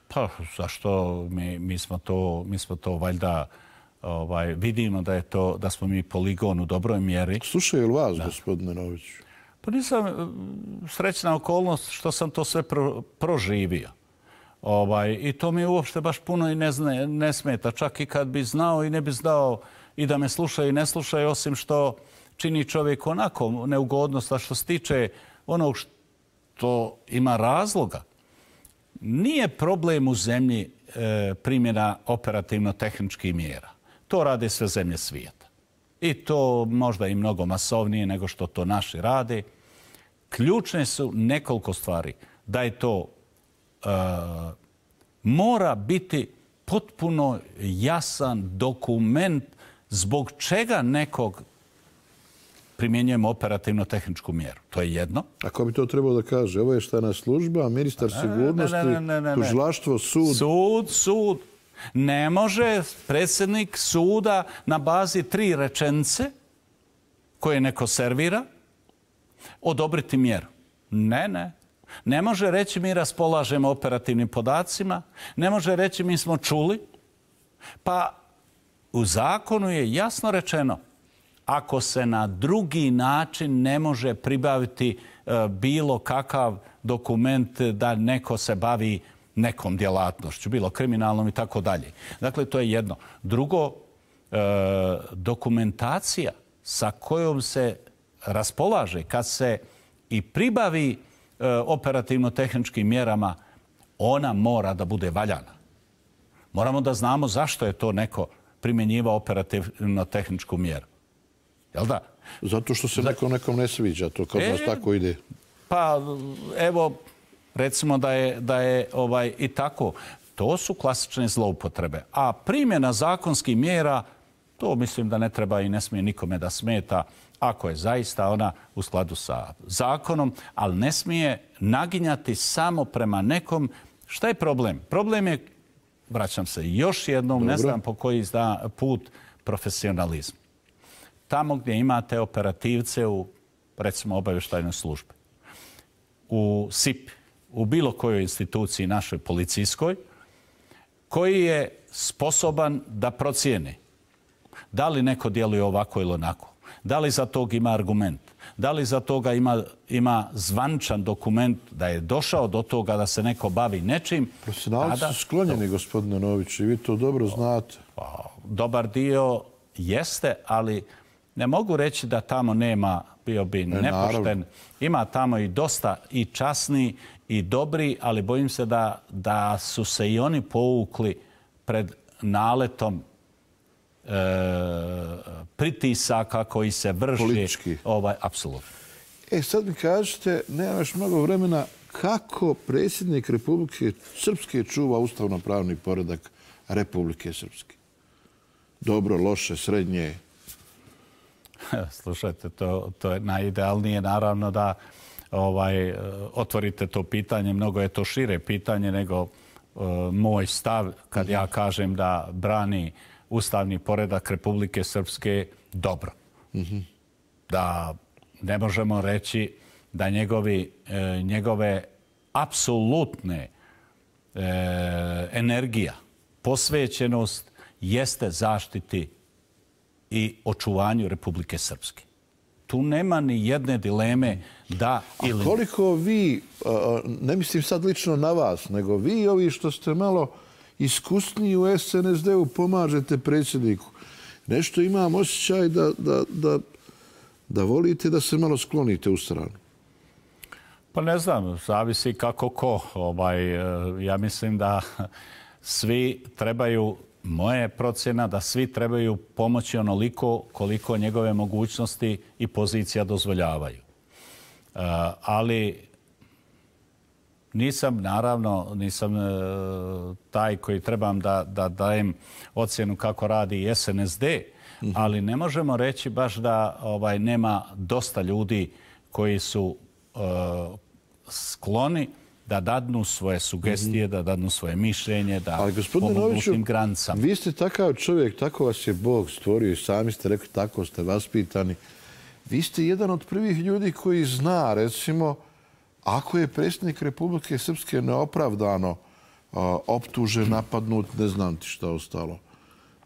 [SPEAKER 2] Pa, zašto? Mi, mi, smo, to, mi smo to valjda ovaj, vidimo da je to, da smo mi poligon u dobroj mjeri.
[SPEAKER 1] Slušaju li vas, da. Gospodine Noviću?
[SPEAKER 2] Pa nisam srećna okolnost što sam to sve pro, proživio. Ovaj, I to mi uopšte baš puno i ne, zna, ne smeta. Čak i kad bi znao i ne bi znao i da me slušaju i ne slušaju, osim što čini čovjek onako neugodnost, a što se tiče onog što ima razloga. Nije problem u zemlji e, primjena operativno-tehničkih mjera. To rade sve zemlje svijeta. I to možda i mnogo masovnije nego što to naši rade. Ključne su nekoliko stvari. Da je to e, mora biti potpuno jasan dokument zbog čega nekog primjenjujemo operativno-tehničku mjeru. To je jedno.
[SPEAKER 1] A ko bi to trebalo da kaže? Ovo je štana služba, ministar sigurnosti, ne, ne, ne, ne, ne. tužilaštvo, sud.
[SPEAKER 2] Sud, sud. Ne može predsjednik suda na bazi tri rečenice koje neko servira odobriti mjeru. Ne, ne. Ne može reći mi raspolažemo operativnim podacima. Ne može reći mi smo čuli. Pa u zakonu je jasno rečeno ako se na drugi način ne može pribaviti e, bilo kakav dokument da neko se bavi nekom djelatnošću, bilo kriminalnom i tako dalje. Dakle, to je jedno. Drugo, e, dokumentacija sa kojom se raspolaže kad se i pribavi e, operativno-tehničkim mjerama, ona mora da bude valjana. Moramo da znamo zašto je to neko primjenjivao operativno-tehničku mjeru. Jel da?
[SPEAKER 1] Zato što se nekom nekom ne sviđa, to kad e, nas tako ide.
[SPEAKER 2] Pa, evo, recimo da je, da je ovaj, i tako. To su klasične zloupotrebe. A primjena zakonskih mjera, to mislim da ne treba i ne smije nikome da smeta ako je zaista ona u skladu sa zakonom, ali ne smije naginjati samo prema nekom. Šta je problem? Problem je, vraćam se još jednom, Dobro. ne znam po koji zna put, profesionalizam. Tamo gdje imate operativce u recimo obavještajnoj službi, u S I P, u bilo kojoj instituciji našoj policijskoj, koji je sposoban da procijeni da li neko djeluje ovako ili onako, da li za tog ima argument, da li za toga ima, ima zvančan dokument da je došao do toga da se neko bavi nečim.
[SPEAKER 1] Profesionalci su sklonjeni, gospodine Nović, i vi to dobro znate.
[SPEAKER 2] Dobar dio jeste, ali ne mogu reći da tamo nema, bio bi
[SPEAKER 1] Ne,
[SPEAKER 2] nepošten.
[SPEAKER 1] naravno.
[SPEAKER 2] Ima tamo i dosta i časni i dobri, ali bojim se da, da su se i oni povukli pred naletom e, pritisaka koji se vrši.
[SPEAKER 1] Politički.
[SPEAKER 2] Ovaj, apsolutno.
[SPEAKER 1] E, sad mi kažete, nema još mnogo vremena, kako predsjednik Republike Srpske čuva ustavno-pravni poredak Republike Srpske? Dobro, loše, srednje?
[SPEAKER 2] Slušajte, to, to je najidealnije, naravno, da ovaj, otvorite to pitanje. Mnogo je to šire pitanje nego uh, moj stav kad ja kažem da brani ustavni poredak Republike Srpske dobro.
[SPEAKER 1] Mm-hmm.
[SPEAKER 2] Da ne možemo reći da njegovi, e, njegove apsolutne e, energija, posvećenost jeste zaštiti i očuvanju Republike Srpske. Tu nema ni jedne dileme da ili...
[SPEAKER 1] A koliko vi, ne mislim sad lično na vas, nego vi ovi što ste malo iskusniji u S N S D-u pomažete predsjedniku. Nešto imam osjećaj da, da, da, da volite da se malo sklonite u stranu.
[SPEAKER 2] Pa ne znam, zavisi kako ko. Ovaj, ja mislim da svi trebaju, moja procjena da svi trebaju pomoći onoliko koliko njegove mogućnosti i pozicija dozvoljavaju. Uh, ali nisam, naravno, nisam uh, taj koji trebam da, da dajem ocjenu kako radi i S N S D, mm-hmm. ali ne možemo reći baš da ovaj, nema dosta ljudi koji su uh, skloni da dadnu svoje sugestije, mm-hmm. da dadnu svoje mišljenje, da
[SPEAKER 1] ali, gospodine
[SPEAKER 2] pomogu
[SPEAKER 1] Noviću,
[SPEAKER 2] tim granicama.
[SPEAKER 1] Vi ste takav čovjek, tako vas je Bog stvorio i sami ste rekli, tako ste vaspitani. Vi ste jedan od prvih ljudi koji zna, recimo, ako je predsjednik Republike Srpske neopravdano a, optužen, napadnut, ne znam ti šta ostalo.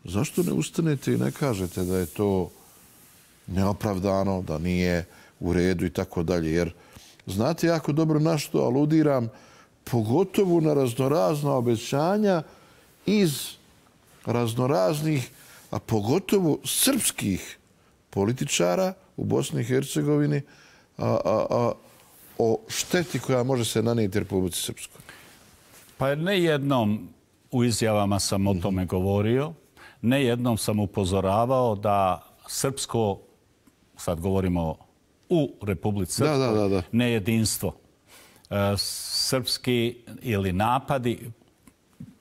[SPEAKER 1] Zašto ne ustanete i ne kažete da je to neopravdano, da nije u redu i tako dalje? Jer znate jako dobro na što aludiram, pogotovo na raznorazna obećanja iz raznoraznih, a pogotovo srpskih političara u Bosni i Hercegovini a, a, a, o šteti koja može se nanijeti Republici Srpskoj.
[SPEAKER 2] Pa ne jednom u izjavama sam o tome govorio, ne jednom sam upozoravao da srpsko, sad govorimo u Republici Srpskoj,
[SPEAKER 1] da, da, da.
[SPEAKER 2] nejedinstvo, srpski ili napadi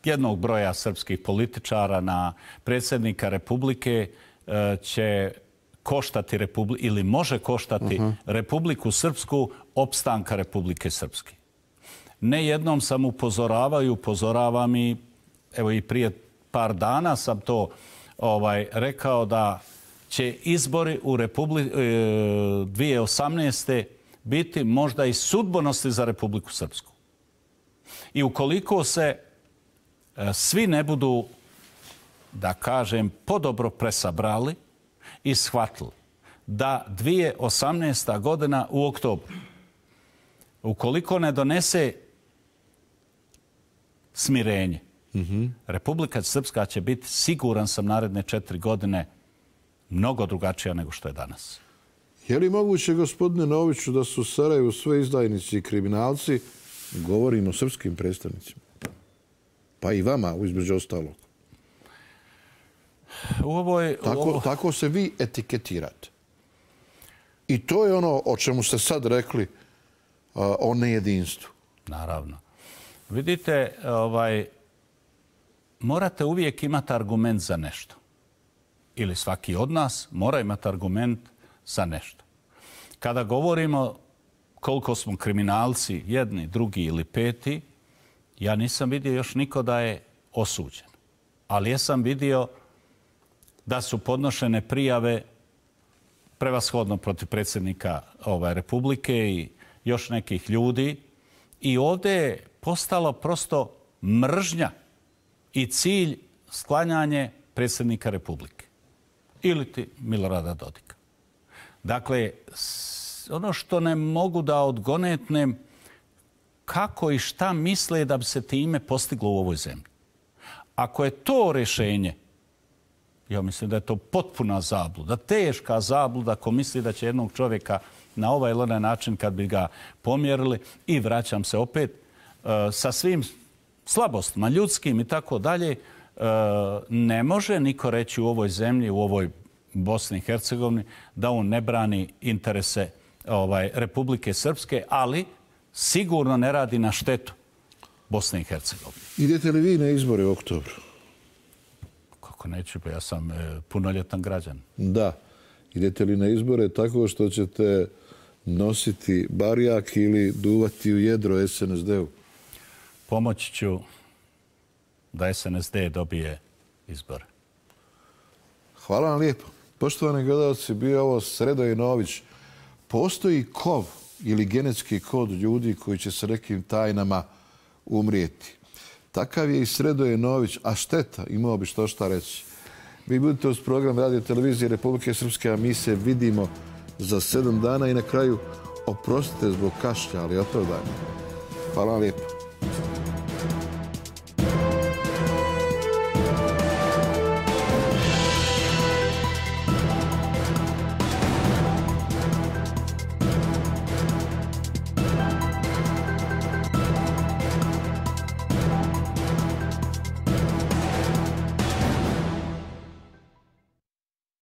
[SPEAKER 2] jednog broja srpskih političara na predsjednika Republike će koštati Republi- ili može koštati uh-huh. Republiku Srpsku opstanka Republike Srpske. Ne jednom sam upozoravao i upozoravam i evo i prije par dana sam to ovaj, rekao da će izbori u Republi- dvije tisuće osamnaeste biti možda i sudbonosni za Republiku Srpsku. I ukoliko se e, svi ne budu, da kažem, podobro presabrali i shvatili da dvije tisuće osamnaesta godina u oktobru, ukoliko ne donese smirenje, mm-hmm. Republika Srpska će biti, siguran sam, naredne četiri godine mnogo drugačija nego što je danas.
[SPEAKER 1] Je li moguće, gospodine Noviću, da su u Sarajevu sve izdajnici i kriminalci, govorimo o srpskim predstavnicima? Pa i vama, između ostalog.
[SPEAKER 2] U ovoj,
[SPEAKER 1] tako,
[SPEAKER 2] ovo...
[SPEAKER 1] tako se vi etiketirate. I to je ono o čemu ste sad rekli, uh, o nejedinstvu.
[SPEAKER 2] Naravno. Vidite, ovaj, morate uvijek imati argument za nešto. Ili svaki od nas mora imati argument za nešto. Kada govorimo koliko smo kriminalci, jedni, drugi ili peti, ja nisam vidio još niko da je osuđen. Ali ja sam vidio da su podnošene prijave prevashodno protiv predsjednika ovaj, Republike i još nekih ljudi. I ovdje je postalo prosto mržnja i cilj sklanjanje predsjednika Republike ili ti Milorada Dodika. Dakle, ono što ne mogu da odgonetnem, kako i šta misle da bi se time postiglo u ovoj zemlji. Ako je to rješenje, ja mislim da je to potpuna zabluda, teška zabluda ko misli da će jednog čovjeka na ovaj ili onaj način kad bi ga pomjerili i vraćam se opet sa svim slabostima ljudskim i tako dalje, ne može niko reći u ovoj zemlji, u ovoj Bosni i Hercegovini da on ne brani interese ovaj, Republike Srpske, ali sigurno ne radi na štetu Bosne i Hercegovine.
[SPEAKER 1] Idete li vi na izbore u oktobru?
[SPEAKER 2] Kako neću, pa ja sam e, punoljetan građan.
[SPEAKER 1] Da. Idete li na izbore tako što ćete nositi barjak ili duvati u jedro es en es de-u?
[SPEAKER 2] Pomoći ću da es en es de dobije izbore.
[SPEAKER 1] Hvala vam lijepo. Poštovani gledalci, bio ovo Sredoje Nović. Postoji kov ili genetski kod ljudi koji će sa nekim tajnama umrijeti. Takav je i Sredoje Nović, a šteta, imao bi što šta reći. Vi budete uz program Radio Televizije Republike Srpske, a mi se vidimo za sedam dana i na kraju oprostite zbog kašlja, ali opravdanje. Hvala vam lijepo.